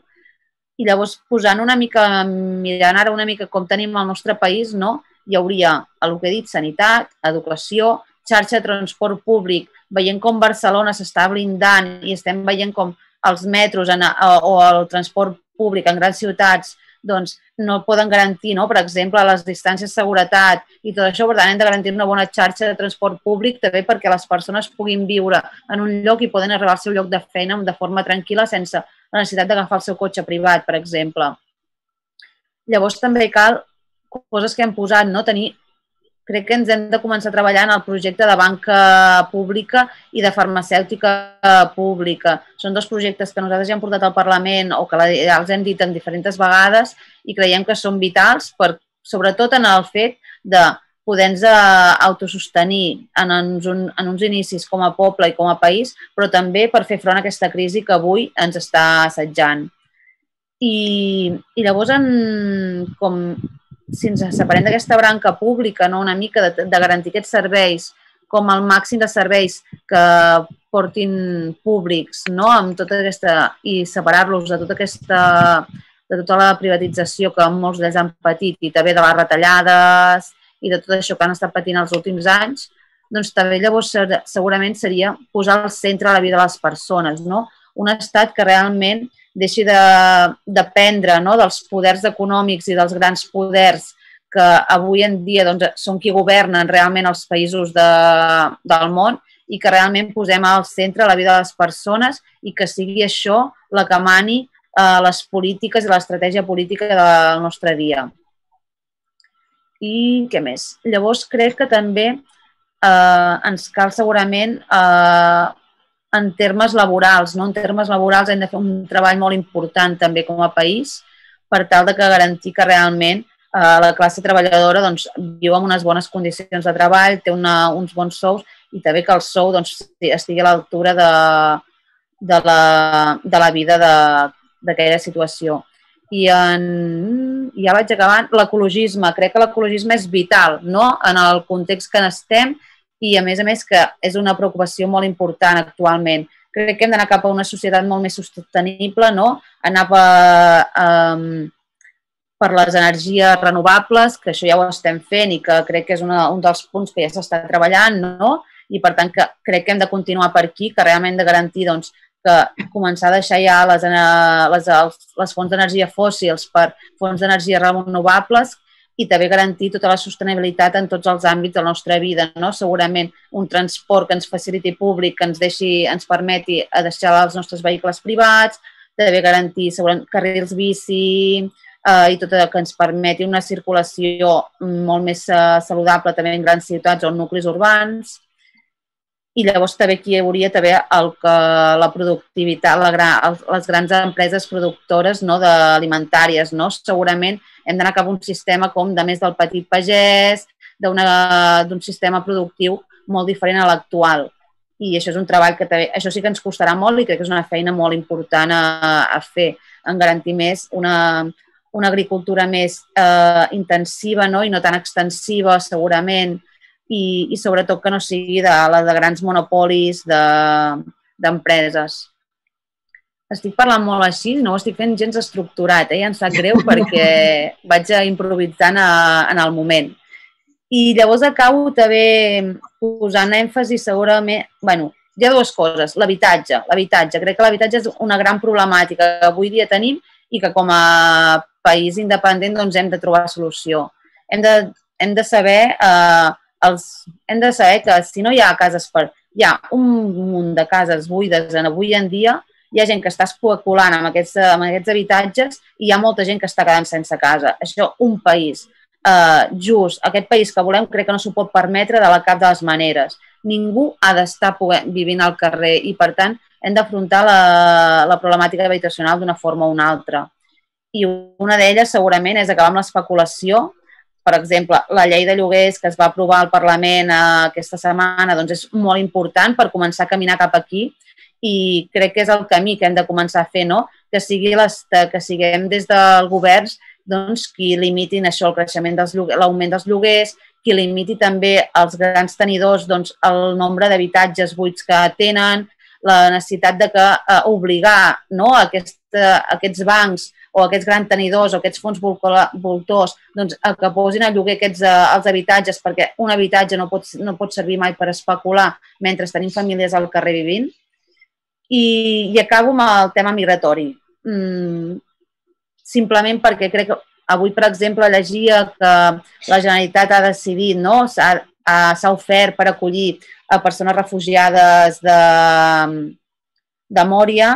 I llavors posant una mica, mirant ara una mica com tenim el nostre país, no? Hi hauria, el que he dit, sanitat, educació, xarxa de transport públic, veient com Barcelona s'està blindant i estem veient com els metros en, o el transport públic en grans ciutats doncs, no poden garantir, no? Per exemple, les distàncies de seguretat i tot això, per tant, hem de garantir una bona xarxa de transport públic també perquè les persones puguin viure en un lloc i poden arribar al seu lloc de feina de forma tranquil·la sense la necessitat d'agafar el seu cotxe privat, per exemple. Llavors, també cal coses que hem posat, no? Tenir, crec que ens hem de començar a treballar en el projecte de banca pública i de farmacèutica pública. Són dos projectes que nosaltres ja hem portat al Parlament o que ja els hem dit en diferents vegades i creiem que són vitals, per, sobretot en el fet de poder-nos autosostenir en uns, en uns inicis com a poble i com a país, però també per fer front a aquesta crisi que avui ens està assetjant. I, i llavors, en, com, si ens separem d'aquesta branca pública, no, una mica de, de garantir aquests serveis com el màxim de serveis que portin públics, no, amb tota aquesta, i separar-los de tota aquesta, de tota la privatització que molts d'ells han patit i també de les retallades i de tot això que han estat patint els últims anys, doncs també llavors segurament seria posar al centre la vida de les persones, no? Un estat que realment deixi de dependre, no, dels poders econòmics i dels grans poders que avui en dia doncs, són qui governen realment els països de, del món i que realment posem al centre la vida de les persones i que sigui això la que mani eh, les polítiques i l'estratègia política del nostre dia. I què més? Llavors crec que també eh, ens cal segurament eh, en termes laborals, no? En termes laborals hem de fer un treball molt important també com a país per tal de que garantir que realment eh, la classe treballadora doncs, viu en unes bones condicions de treball, té una, uns bons sous i també que el sou doncs, estigui a l'altura de, de, la, de la vida d'aquella situació. I en, ja vaig acabant, l'ecologisme. Crec que l'ecologisme és vital, no?, en el context que n'estem i, a més a més, que és una preocupació molt important actualment. Crec que hem d'anar cap a una societat molt més sostenible, no?, anar per, um, per les energies renovables, que això ja ho estem fent i que crec que és una, un dels punts que ja s'està treballant, no?, i per tant que crec que hem de continuar per aquí, que realment hem de garantir doncs, que començar a deixar ja les, les, les fonts d'energia fòssils per fonts d'energia renovables i també garantir tota la sostenibilitat en tots els àmbits de la nostra vida, no? Segurament un transport que ens faciliti públic, que ens, deixi, ens permeti a deixar els nostres vehicles privats, també garantir carrils bici eh, i tot el que ens permeti una circulació molt més eh, saludable també en grans ciutats o en nuclis urbans. I llavors també aquí hi hauria també el que la productivitat, la, les grans empreses productores no, alimentàries. No? Segurament hem d'anar cap a un sistema com de més del petit pagès, d'un sistema productiu molt diferent a l'actual. I això és un treball que també, això sí que ens costarà molt i crec que és una feina molt important a, a fer, en garantir més una, una agricultura més eh, intensiva, no? I no tan extensiva segurament, I, i sobretot que no sigui de, la de grans monopolis d'empreses. De, estic parlant molt així, no ho estic fent gens estructurat, eh? Ja em sap greu perquè vaig improvisant a, en el moment. I llavors acabo també posant èmfasi segurament... Bueno, hi ha dues coses. L'habitatge. L'habitatge. Crec que l'habitatge és una gran problemàtica que avui dia tenim i que com a país independent doncs, hem de trobar solució. Hem de, hem de saber... Eh, Els, hem de saber que si no hi ha cases per... Hi ha un munt de cases buides en avui en dia, hi ha gent que està especulant amb aquests, amb aquests habitatges i hi ha molta gent que està quedant sense casa. Això, un país eh, just, aquest país que volem, crec que no s'ho pot permetre de la cap de les maneres. Ningú ha d'estar vivint al carrer i, per tant, hem d'afrontar la, la problemàtica habitacional d'una forma o una altra. I una d'elles, segurament, és acabar amb l'especulació. Per exemple, la llei de lloguers que es va aprovar al Parlament aquesta setmana doncs és molt important per començar a caminar cap aquí i crec que és el camí que hem de començar a fer, no? Que, sigui les, que siguem des del govern doncs, qui limitin això, el creixement dels lloguers, l'augment dels lloguers, qui limiti també els grans tenidors doncs, el nombre d'habitatges buits que tenen, la necessitat de que, eh, obligar no, aquest, aquests bancs o aquests grans tenidors o aquests fons voltors doncs, que posin a lloguer aquests, els habitatges perquè un habitatge no pot, no pot servir mai per especular mentre tenim famílies al carrer vivint. I, i acabo amb el tema migratori. Mm, simplement perquè crec que avui, per exemple, llegia que la Generalitat ha decidit, no, s'ha ofert per acollir a persones refugiades de, de Mòria,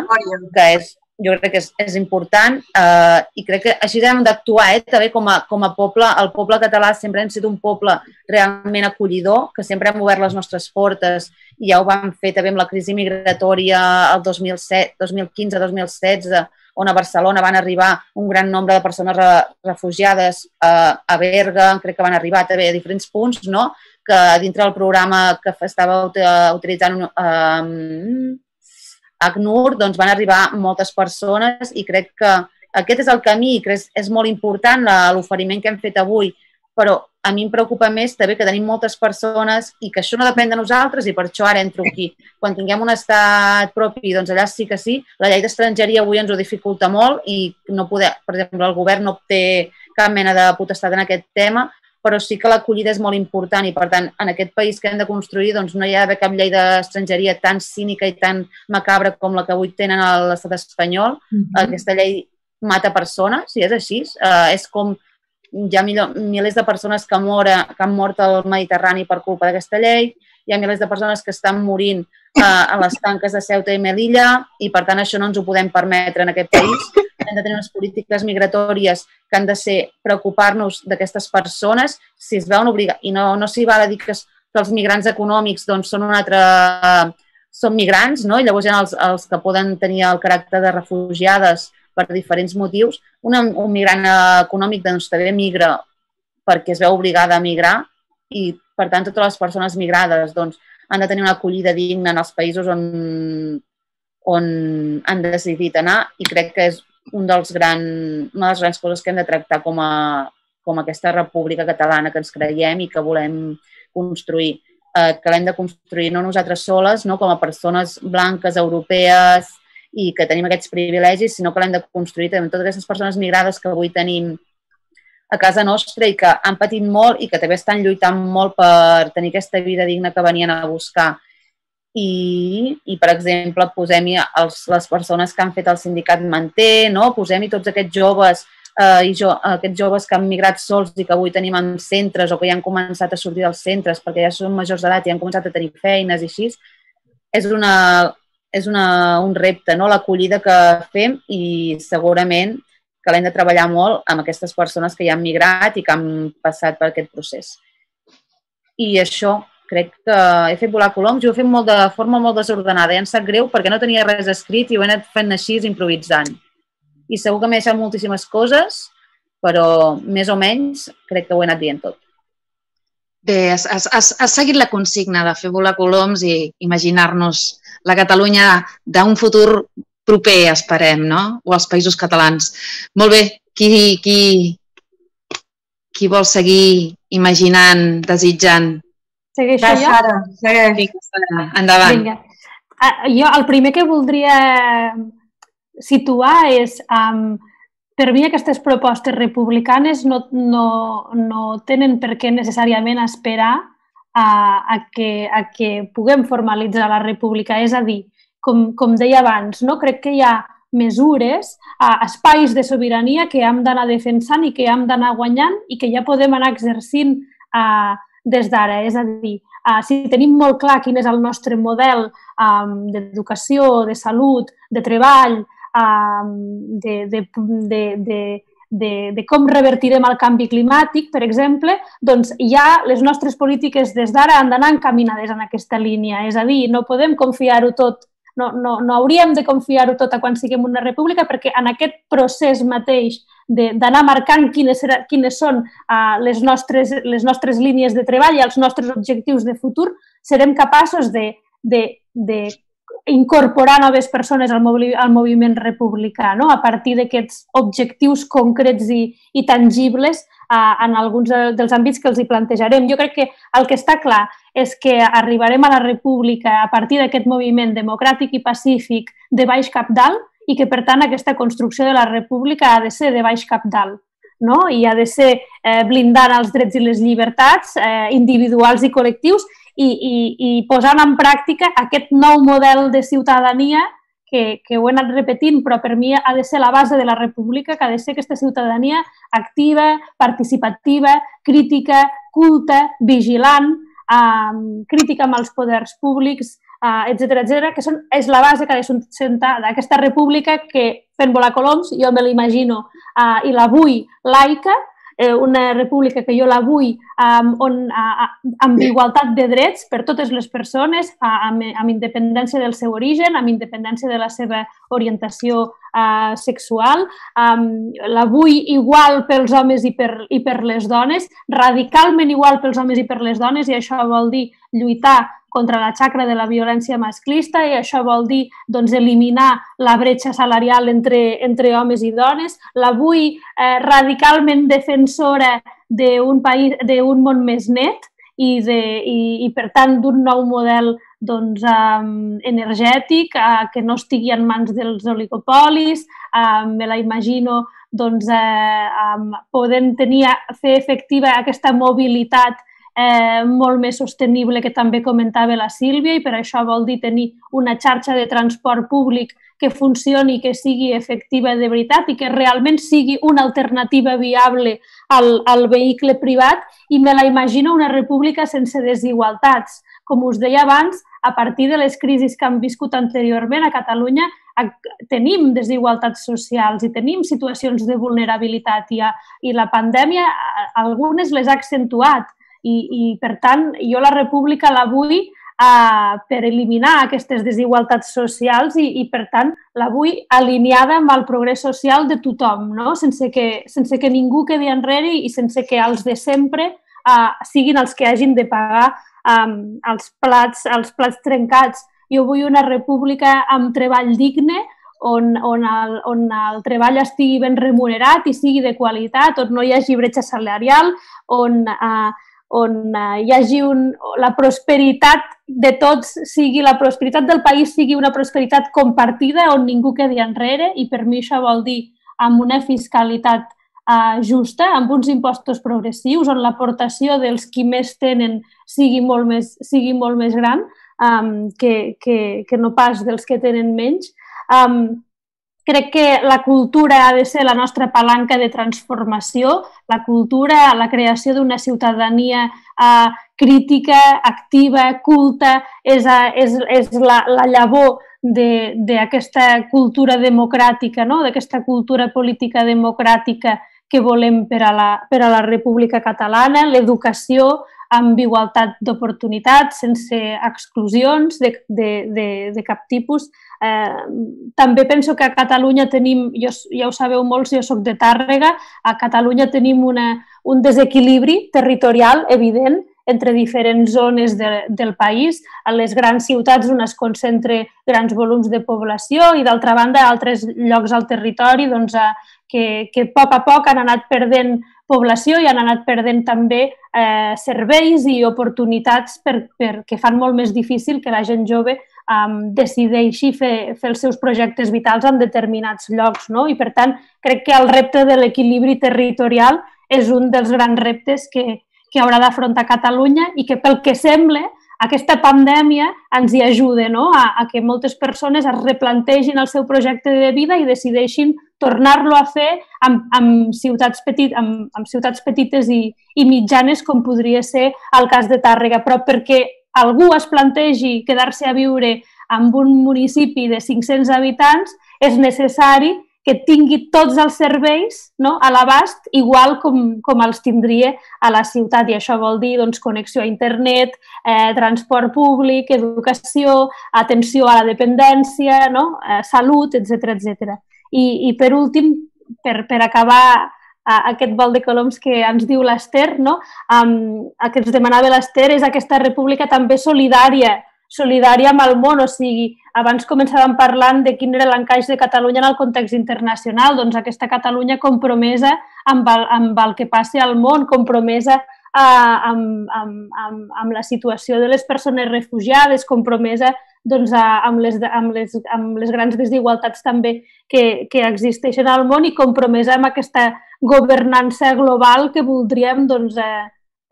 que és jo crec que és, és important eh, i crec que així hem d'actuar, eh, també com a, com a poble. El poble català sempre hem sigut un poble realment acollidor, que sempre hem obert les nostres portes i ja ho vam fer també amb la crisi migratòria el dos mil set, dos mil quinze dos mil setze, on a Barcelona van arribar un gran nombre de persones re, refugiades, eh, a Berga, crec que van arribar també a diferents punts, no? Que dintre del programa que estava utilitzant eh, ACNUR, doncs van arribar moltes persones i crec que aquest és el camí, que és, és molt important l'oferiment que hem fet avui, però a mi em preocupa més també que tenim moltes persones i que això no depèn de nosaltres i per això ara entro aquí. Quan tinguem un estat propi, doncs allà sí que sí. La llei d'estrangeria avui ens ho dificulta molt i no poder, per exemple, el govern no té cap mena de potestat en aquest tema, però sí que l'acollida és molt important i, per tant, en aquest país que hem de construir doncs no hi ha d'haver cap llei d'estrangeria tan cínica i tan macabra com la que avui tenen a l'estat espanyol. Mm-hmm. Aquesta llei mata persones, i és així. Uh, és com hi ha milers de persones que, mora, que han mort al Mediterrani per culpa d'aquesta llei, hi ha milers de persones que estan morint uh, a les tanques de Ceuta i Melilla i, per tant, això no ens ho podem permetre en aquest país. Hem de tenir unes polítiques migratòries que han de ser preocupar-nos d'aquestes persones si es veuen obligats. I no, no s'hi val a dir que, que els migrants econòmics doncs, són un altre... són migrants, no? I llavors hi ha els, els que poden tenir el caràcter de refugiades per diferents motius. Un, un migrant econòmic doncs, també migra perquè es veu obligada a migrar i, per tant, totes les persones migrades doncs, han de tenir una acollida digna en els països on, on han decidit anar i crec que és un dels gran, una de les grans coses que hem de tractar com a, com a aquesta república catalana que ens creiem i que volem construir. Eh, que l'hem de construir no nosaltres soles, no com a persones blanques, europees i que tenim aquests privilegis, sinó que l'hem de construir també amb totes aquestes persones migrades que avui tenim a casa nostra i que han patit molt i que també estan lluitant molt per tenir aquesta vida digna que venien a buscar. I, i per exemple, posem-hi els, les persones que han fet el sindicat Manté, no? Posem-hi tots aquests joves, eh, i jo, aquests joves que han migrat sols i que avui tenim en centres o que ja han començat a sortir dels centres perquè ja són majors d'edat i han començat a tenir feines i així. És, una, és una, un repte, no? L'acollida que fem i segurament que l'hem de treballar molt amb aquestes persones que ja han migrat i que han passat per aquest procés. I això, crec que he fet volar coloms i ho he fet molt de forma molt desordenada. I em sap greu perquè no tenia res escrit i ho he anat fent així improvisant. I segur que m'he deixat moltíssimes coses, però més o menys crec que ho he anat dient tot. Bé, has, has, has seguit la consigna de fer volar coloms i imaginar-nos la Catalunya d'un futur proper, esperem, no? O els països catalans. Molt bé, qui, qui, qui vol seguir imaginant, desitjant? Segueixo jo? Sara, segueix. Endavant. Vinga. Jo el primer que voldria situar és, um, per mi aquestes propostes republicanes no, no, no tenen per què necessàriament esperar a, a, que, a que puguem formalitzar la república. És a dir, com, com deia abans, no? Crec que hi ha mesures, uh, espais de sobirania que hem d'anar defensant i que hem d'anar guanyant i que ja podem anar exercint uh, des d'ara. És a dir, uh, si tenim molt clar quin és el nostre model um, d'educació, de salut, de treball, um, de, de, de, de, de, de com revertirem el canvi climàtic, per exemple, doncs ja les nostres polítiques des d'ara han d'anar encaminades en aquesta línia. És a dir, no podem confiar-ho tot, no, no, no hauríem de confiar-ho tot a quan siguem una república perquè en aquest procés mateix d'anar marcant quines, quines són uh, les, nostres, les nostres línies de treball i els nostres objectius de futur, serem capaços de, de, de incorporar noves persones al, movi al moviment republicà, no? A partir d'aquests objectius concrets i, i tangibles uh, en alguns dels àmbits que els hi plantejarem. Jo crec que el que està clar és que arribarem a la república a partir d'aquest moviment democràtic i pacífic de baix cap dalt i que, per tant, aquesta construcció de la república ha de ser de baix cap dalt, no? I ha de ser eh, blindant els drets i les llibertats eh, individuals i col·lectius i, i, i posant en pràctica aquest nou model de ciutadania que, que ho he anat repetint, però per mi ha de ser la base de la república, que ha de ser aquesta ciutadania activa, participativa, crítica, culta, vigilant, eh, crítica amb els poders públics, etcètera, etcètera, que són, és la base que ha de sustentar d'aquesta república que, fent volar coloms, jo me l'imagino, uh, i la vull laica, eh, una república que jo la vull um, on, uh, amb igualtat de drets per totes les persones, uh, amb, amb independència del seu origen, amb independència de la seva orientació uh, sexual, um, la vull igual pels homes i per, i per les dones, radicalment igual pels homes i per les dones, i això vol dir lluitar contra la xacra de la violència masclista, i això vol dir doncs, eliminar la bretxa salarial entre, entre homes i dones. La vull eh, radicalment defensora d'un país, d'un món més net i, de, i, i per tant, d'un nou model doncs, um, energètic uh, que no estigui en mans dels oligopolis. Uh, me la imagino doncs, uh, um, podent tenir, fer efectiva aquesta mobilitat Eh, molt més sostenible que també comentava la Sílvia, i per això vol dir tenir una xarxa de transport públic que funcioni, que sigui efectiva de veritat i que realment sigui una alternativa viable al, al vehicle privat, i me la imagino una república sense desigualtats. Com us deia abans, a partir de les crisis que hem viscut anteriorment a Catalunya tenim desigualtats socials i tenim situacions de vulnerabilitat, i, i la pandèmia algunes les ha accentuat. I, i, per tant, jo la república la vull uh, per eliminar aquestes desigualtats socials i, i, per tant, la vull alineada amb el progrés social de tothom, no? sense, que, sense que ningú quedi enrere i sense que els de sempre uh, siguin els que hagin de pagar um, els, plats, els plats trencats. Jo vull una república amb treball digne, on, on, el, on el treball estigui ben remunerat i sigui de qualitat, on no hi hagi bretxa salarial, on... Uh, on hi hagi un, la prosperitat de tots, sigui la prosperitat del país sigui una prosperitat compartida, on ningú quedi enrere, i per mi això vol dir amb una fiscalitat uh, justa, amb uns impostos progressius, on l'aportació dels qui més tenen sigui molt més, sigui molt més gran um, que, que, que no pas dels que tenen menys. Um, Crec que la cultura ha de ser la nostra palanca de transformació, la cultura, la creació d'una ciutadania eh, crítica, activa, culta, és, és, és la, la llavor d'aquesta cultura democràtica, no? D'aquesta cultura política democràtica que volem per a la, per a la República Catalana, l'educació amb igualtat d'oportunitats, sense exclusions de, de, de, de cap tipus. Eh, també penso que a Catalunya tenim, jo, ja ho sabeu molts, jo soc de Tàrrega, a Catalunya tenim una, un desequilibri territorial evident entre diferents zones de, del país. A les grans ciutats on es concentra grans volums de població i, d'altra banda, a altres llocs al territori doncs, a, que, que a poc a poc han anat perdent població i han anat perdent també eh, serveis i oportunitats per, per, que fan molt més difícil que la gent jove um, decideixi fer, fer els seus projectes vitals en determinats llocs, no? I, per tant, crec que el repte de l'equilibri territorial és un dels grans reptes que, que haurà d'afrontar Catalunya i que, pel que sembla, aquesta pandèmia ens hi ajuda, no? a, a que moltes persones es replantegin el seu projecte de vida i decideixin tornar-lo a fer amb, amb, ciutats petit, amb, amb ciutats petites i, i mitjanes, com podria ser el cas de Tàrrega. Però perquè algú es plantegi quedar-se a viure en un municipi de cinc-cents habitants, és necessari que tingui tots els serveis, no, a l'abast, igual com, com els tindria a la ciutat. I això vol dir doncs, connexió a internet, eh, transport públic, educació, atenció a la dependència, no, eh, salut, etcètera, etcètera. I, I per últim, per, per acabar eh, aquest vol de coloms que ens diu l'Ester, no, um, el que ens demanava l'Ester és aquesta república també solidària, solidària amb el món, o sigui, abans començàvem parlant de quin era l'encaix de Catalunya en el context internacional, doncs aquesta Catalunya compromesa amb el, amb el que passi al món, compromesa eh, amb, amb, amb, amb la situació de les persones refugiades, compromesa doncs, amb, les, amb, les, amb les grans desigualtats també que, que existeixen al món, i compromesa amb aquesta governança global que voldríem doncs, eh,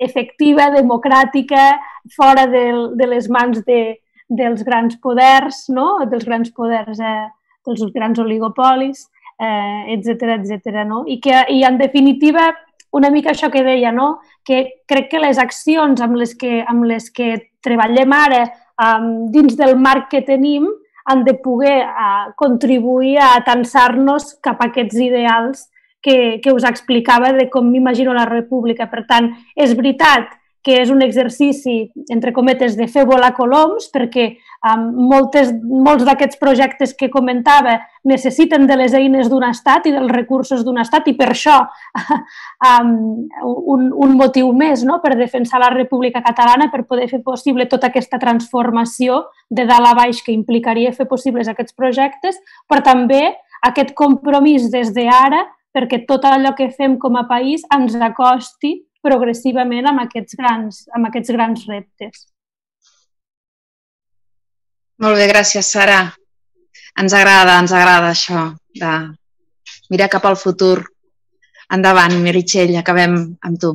efectiva, democràtica, fora de, de les mans de, dels grans poders, no? dels grans poders, eh, dels grans oligopolis, eh, etcètera, etcètera, no? I, que, I, en definitiva, una mica això que deia, no? Que crec que les accions amb les que, amb les que treballem ara dins del marc que tenim, han de poder contribuir a atansar-nos cap a aquests ideals que, que us explicava de com m'imagino la república. Per tant, és veritat que és un exercici, entre cometes, de fer volar coloms, perquè um, moltes, molts d'aquests projectes que comentava necessiten de les eines d'un estat i dels recursos d'un estat, i per això um, un, un motiu més, no?, per defensar la República Catalana, per poder fer possible tota aquesta transformació de dalt a baix que implicaria fer possibles aquests projectes, però també aquest compromís des d'ara perquè tot allò que fem com a país ens acosti progressivament amb aquests grans, amb aquests grans reptes. Molt bé, gràcies, Sara. Ens agrada, ens agrada això de mirar cap al futur. Endavant, Meritxell, acabem amb tu.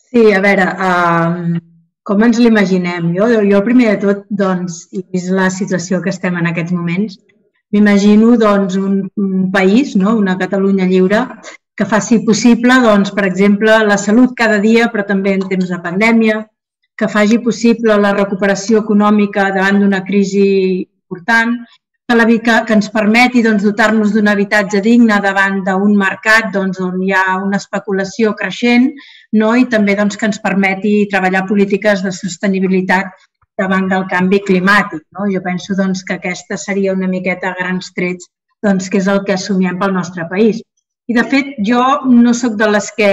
Sí, a veure, uh, com ens l'imaginem? Jo, jo, primer de tot, doncs, i vist la situació que estem en aquests moments, m'imagino doncs, un, un país, no? Una Catalunya lliure, que faci possible, doncs, per exemple, la salut cada dia, però també en temps de pandèmia, que faci possible la recuperació econòmica davant d'una crisi important, que, la, que, que ens permeti doncs, dotar-nos d'un habitatge digne davant d'un mercat doncs, on hi ha una especulació creixent, no? I també doncs, que ens permeti treballar polítiques de sostenibilitat davant del canvi climàtic. No? Jo penso doncs, que aquesta seria una miqueta a grans trets doncs, que és el que assumiem pel nostre país. I, de fet, jo no sóc de les que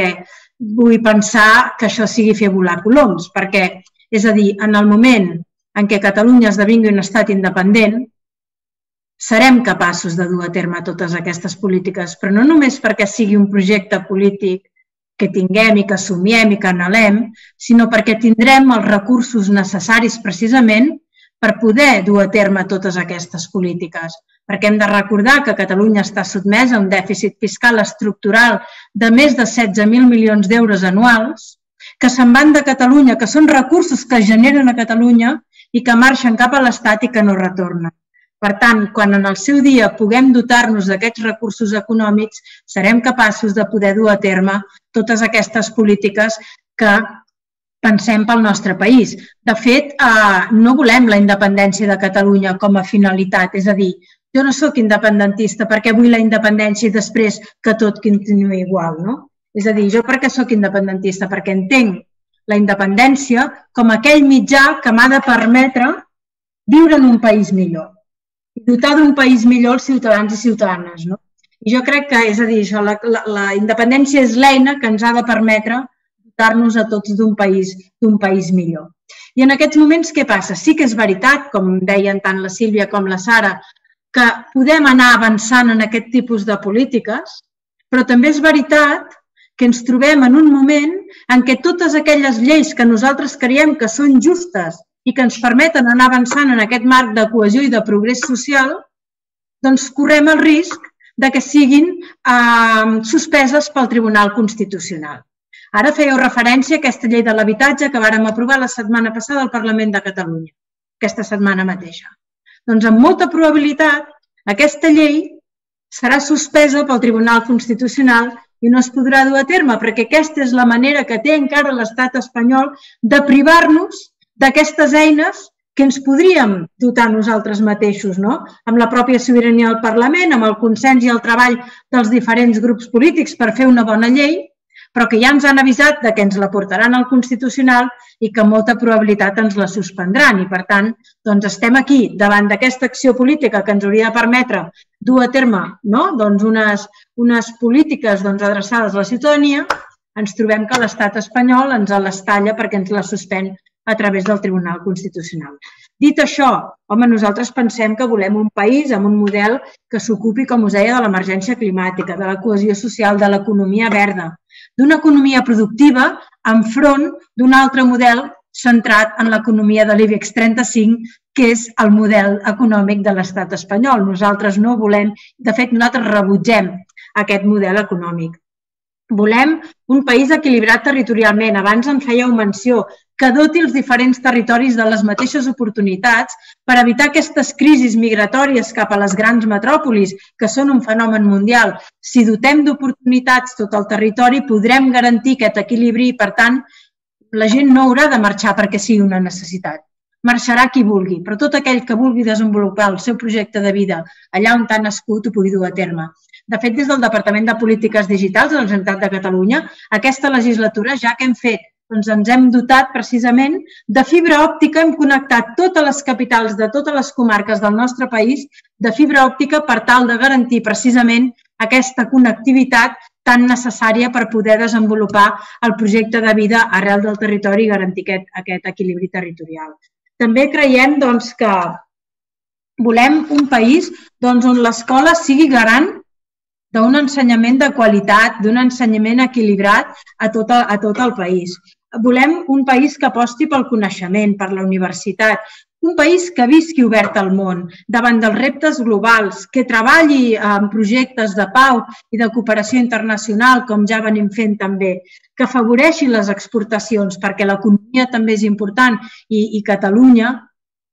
vull pensar que això sigui fer volar coloms, perquè, és a dir, en el moment en què Catalunya esdevingui un estat independent, serem capaços de dur a terme totes aquestes polítiques, però no només perquè sigui un projecte polític que tinguem i que assumiem i que anhelem, sinó perquè tindrem els recursos necessaris precisament per poder dur a terme totes aquestes polítiques. Perquè hem de recordar que Catalunya està sotmesa a un dèficit fiscal estructural de més de setze mil milions d'euros anuals, que se'n van de Catalunya, que són recursos que es generen a Catalunya i que marxen cap a l'Estat i que no retornen. Per tant, quan en el seu dia puguem dotar-nos d'aquests recursos econòmics, serem capaços de poder dur a terme totes aquestes polítiques que pensem pel nostre país. De fet, no volem la independència de Catalunya com a finalitat, és a dir, jo no sóc independentista perquè vull la independència i després que tot continuï igual, no? És a dir, jo per què sóc independentista? Perquè entenc la independència com aquell mitjà que m'ha de permetre viure en un país millor i dotar d'un país millor els ciutadans i ciutadanes, no? I jo crec que, és a dir, això, la, la, la independència és l'eina que ens ha de permetre dotar-nos a tots d'un país, d'un país millor. I en aquests moments què passa? Sí que és veritat, com deien tant la Sílvia com la Sara, que podem anar avançant en aquest tipus de polítiques, però també és veritat que ens trobem en un moment en què totes aquelles lleis que nosaltres creiem que són justes i que ens permeten anar avançant en aquest marc de cohesió i de progrés social, doncs correm el risc de que siguin eh, suspeses pel Tribunal Constitucional. Ara fèieu referència a aquesta llei de l'habitatge que vàrem aprovar la setmana passada al Parlament de Catalunya, aquesta setmana mateixa. Doncs amb molta probabilitat aquesta llei serà suspesa pel Tribunal Constitucional i no es podrà dur a terme, perquè aquesta és la manera que té encara l'estat espanyol de privar-nos d'aquestes eines que ens podríem dotar nosaltres mateixos, no? Amb la pròpia sobirania del Parlament, amb el consens i el treball dels diferents grups polítics per fer una bona llei, però que ja ens han avisat que ens la portaran al Constitucional i que amb molta probabilitat ens la suspendran. I, per tant, doncs estem aquí, davant d'aquesta acció política que ens hauria de permetre dur a terme no? doncs unes, unes polítiques doncs, adreçades a la ciutadania, ens trobem que l'estat espanyol ens les talla perquè ens la suspèn a través del Tribunal Constitucional. Dit això, home, nosaltres pensem que volem un país amb un model que s'ocupi, com us deia, de l'emergència climàtica, de la cohesió social, de l'economia verda, d'una economia productiva enfront d'un altre model centrat en l'economia de l'IBEX trenta-cinc, que és el model econòmic de l'estat espanyol. Nosaltres no volem, de fet, nosaltres rebutgem aquest model econòmic. Volem un país equilibrat territorialment. Abans en fèieu menció, que doti els diferents territoris de les mateixes oportunitats per evitar aquestes crisis migratòries cap a les grans metròpolis, que són un fenomen mundial. Si dotem d'oportunitats tot el territori, podrem garantir aquest equilibri i, per tant, la gent no haurà de marxar perquè sigui una necessitat. marxarà qui vulgui, però tot aquell que vulgui desenvolupar el seu projecte de vida allà on ha nascut ho pugui dur a terme. De fet, des del Departament de Polítiques Digitals de la Generalitat de Catalunya, aquesta legislatura, ja que hem fet, doncs ens hem dotat precisament de fibra òptica, hem connectat totes les capitals de totes les comarques del nostre país de fibra òptica per tal de garantir precisament aquesta connectivitat tan necessària per poder desenvolupar el projecte de vida arrel del territori i garantir aquest, aquest equilibri territorial. També creiem doncs, que volem un país doncs, on l'escola sigui garant d'un ensenyament de qualitat, d'un ensenyament equilibrat a tot, a tot el país. Volem un país que aposti pel coneixement, per la universitat, un país que visqui obert al món, davant dels reptes globals, que treballi en projectes de pau i de cooperació internacional, com ja venim fent també, que afavoreixi les exportacions, perquè l'economia també és important i, i Catalunya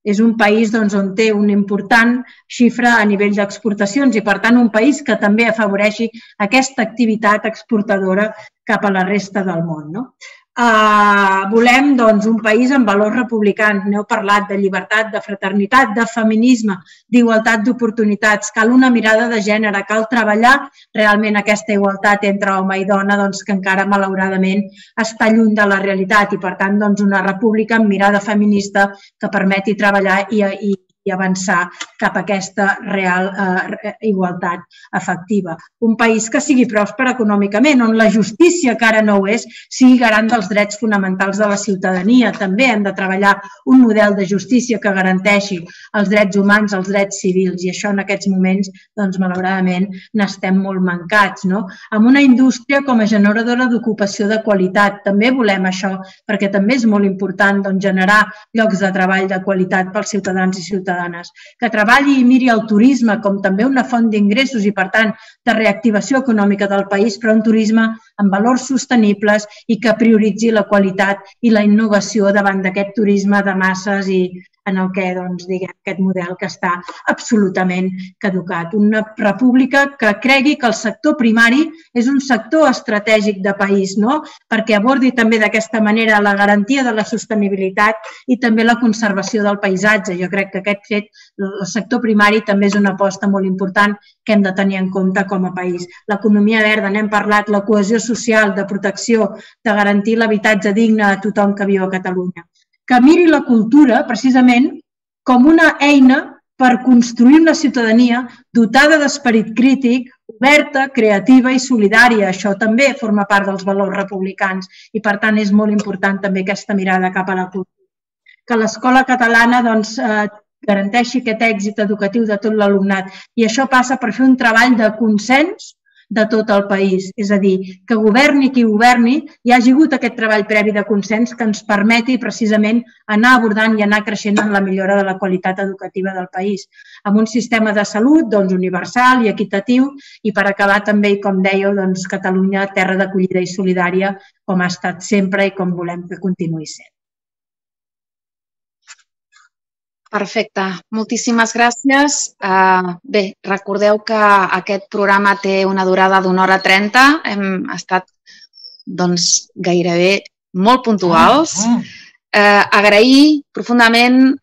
és un país doncs, on té una important xifra a nivell d'exportacions i, per tant, un país que també afavoreixi aquesta activitat exportadora cap a la resta del món. No? Uh, volem doncs, un país amb valors republicans, n'heu parlat, de llibertat, de fraternitat, de feminisme, d'igualtat d'oportunitats. Cal una mirada de gènere, cal treballar realment aquesta igualtat entre home i dona doncs, que encara malauradament està lluny de la realitat i per tant doncs, una república amb mirada feminista que permeti treballar i, i i avançar cap a aquesta real eh, igualtat efectiva. Un país que sigui pròsper econòmicament, on la justícia, que ara no ho és, sigui garant dels drets fonamentals de la ciutadania. També hem de treballar un model de justícia que garanteixi els drets humans, els drets civils, i això en aquests moments, doncs, malauradament, n'estem molt mancats. No? Amb una indústria com a generadora d'ocupació de qualitat, també volem això, perquè també és molt important doncs, generar llocs de treball de qualitat pels ciutadans i ciutadanes, que treballi i miri el turisme com també una font d'ingressos i, per tant, de reactivació econòmica del país, però un turisme amb valors sostenibles i que prioritzi la qualitat i la innovació davant d'aquest turisme de masses i en el que, doncs, diguem, aquest model que està absolutament caducat. Una república que cregui que el sector primari és un sector estratègic de país, no? Perquè abordi també d'aquesta manera la garantia de la sostenibilitat i també la conservació del paisatge. Jo crec que aquest fet, el sector primari també és una aposta molt important que hem de tenir en compte com a país. L'economia verda, n'hem parlat, la cohesió social, de protecció, de garantir l'habitatge digne a tothom que viu a Catalunya. Que miri la cultura, precisament, com una eina per construir una ciutadania dotada d'esperit crític, oberta, creativa i solidària. Això també forma part dels valors republicans i, per tant, és molt important també aquesta mirada cap a la cultura. Que l'escola catalana doncs, eh, garanteixi aquest èxit educatiu de tot l'alumnat i això passa per fer un treball de consens de tot el país. És a dir, que governi qui governi, hi hagi hagut aquest treball previ de consens que ens permeti precisament anar abordant i anar creixent en la millora de la qualitat educativa del país. Amb un sistema de salut doncs, universal i equitatiu i per acabar també, com dèieu, doncs, Catalunya, terra d'acollida i solidària, com ha estat sempre i com volem que continuï sent. Perfecte. Moltíssimes gràcies. Bé, recordeu que aquest programa té una durada d'una hora trenta. Hem estat doncs, gairebé molt puntuals. Agrair profundament,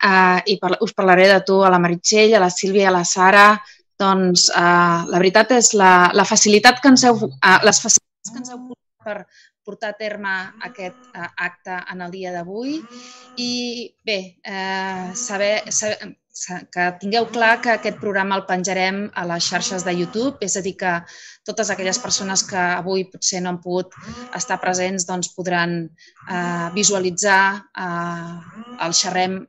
i us parlaré de tu, a la Meritxell, a la Sílvia i a la Sara, doncs la veritat és la facilitat que ens heu posat per portar a terme aquest acte en el dia d'avui i bé, saber que tingueu clar que aquest programa el penjarem a les xarxes de YouTube, és a dir que totes aquelles persones que avui potser no han pogut estar presents doncs podran visualitzar el xerrem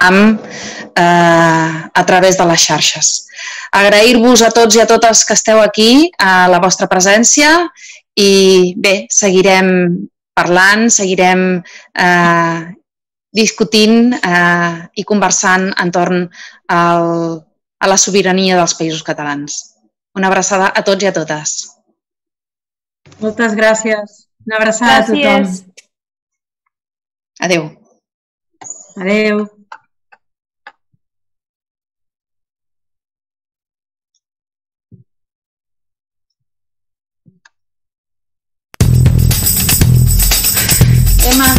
a través de les xarxes. Agrair-vos a tots i a totes que esteu aquí a la vostra presència i bé, seguirem parlant, seguirem eh, discutint eh, i conversant entorn al, a la sobirania dels països catalans. Una abraçada a tots i a totes. Moltes gràcies. Una abraçada a tothom. Adéu. Adéu. Emma.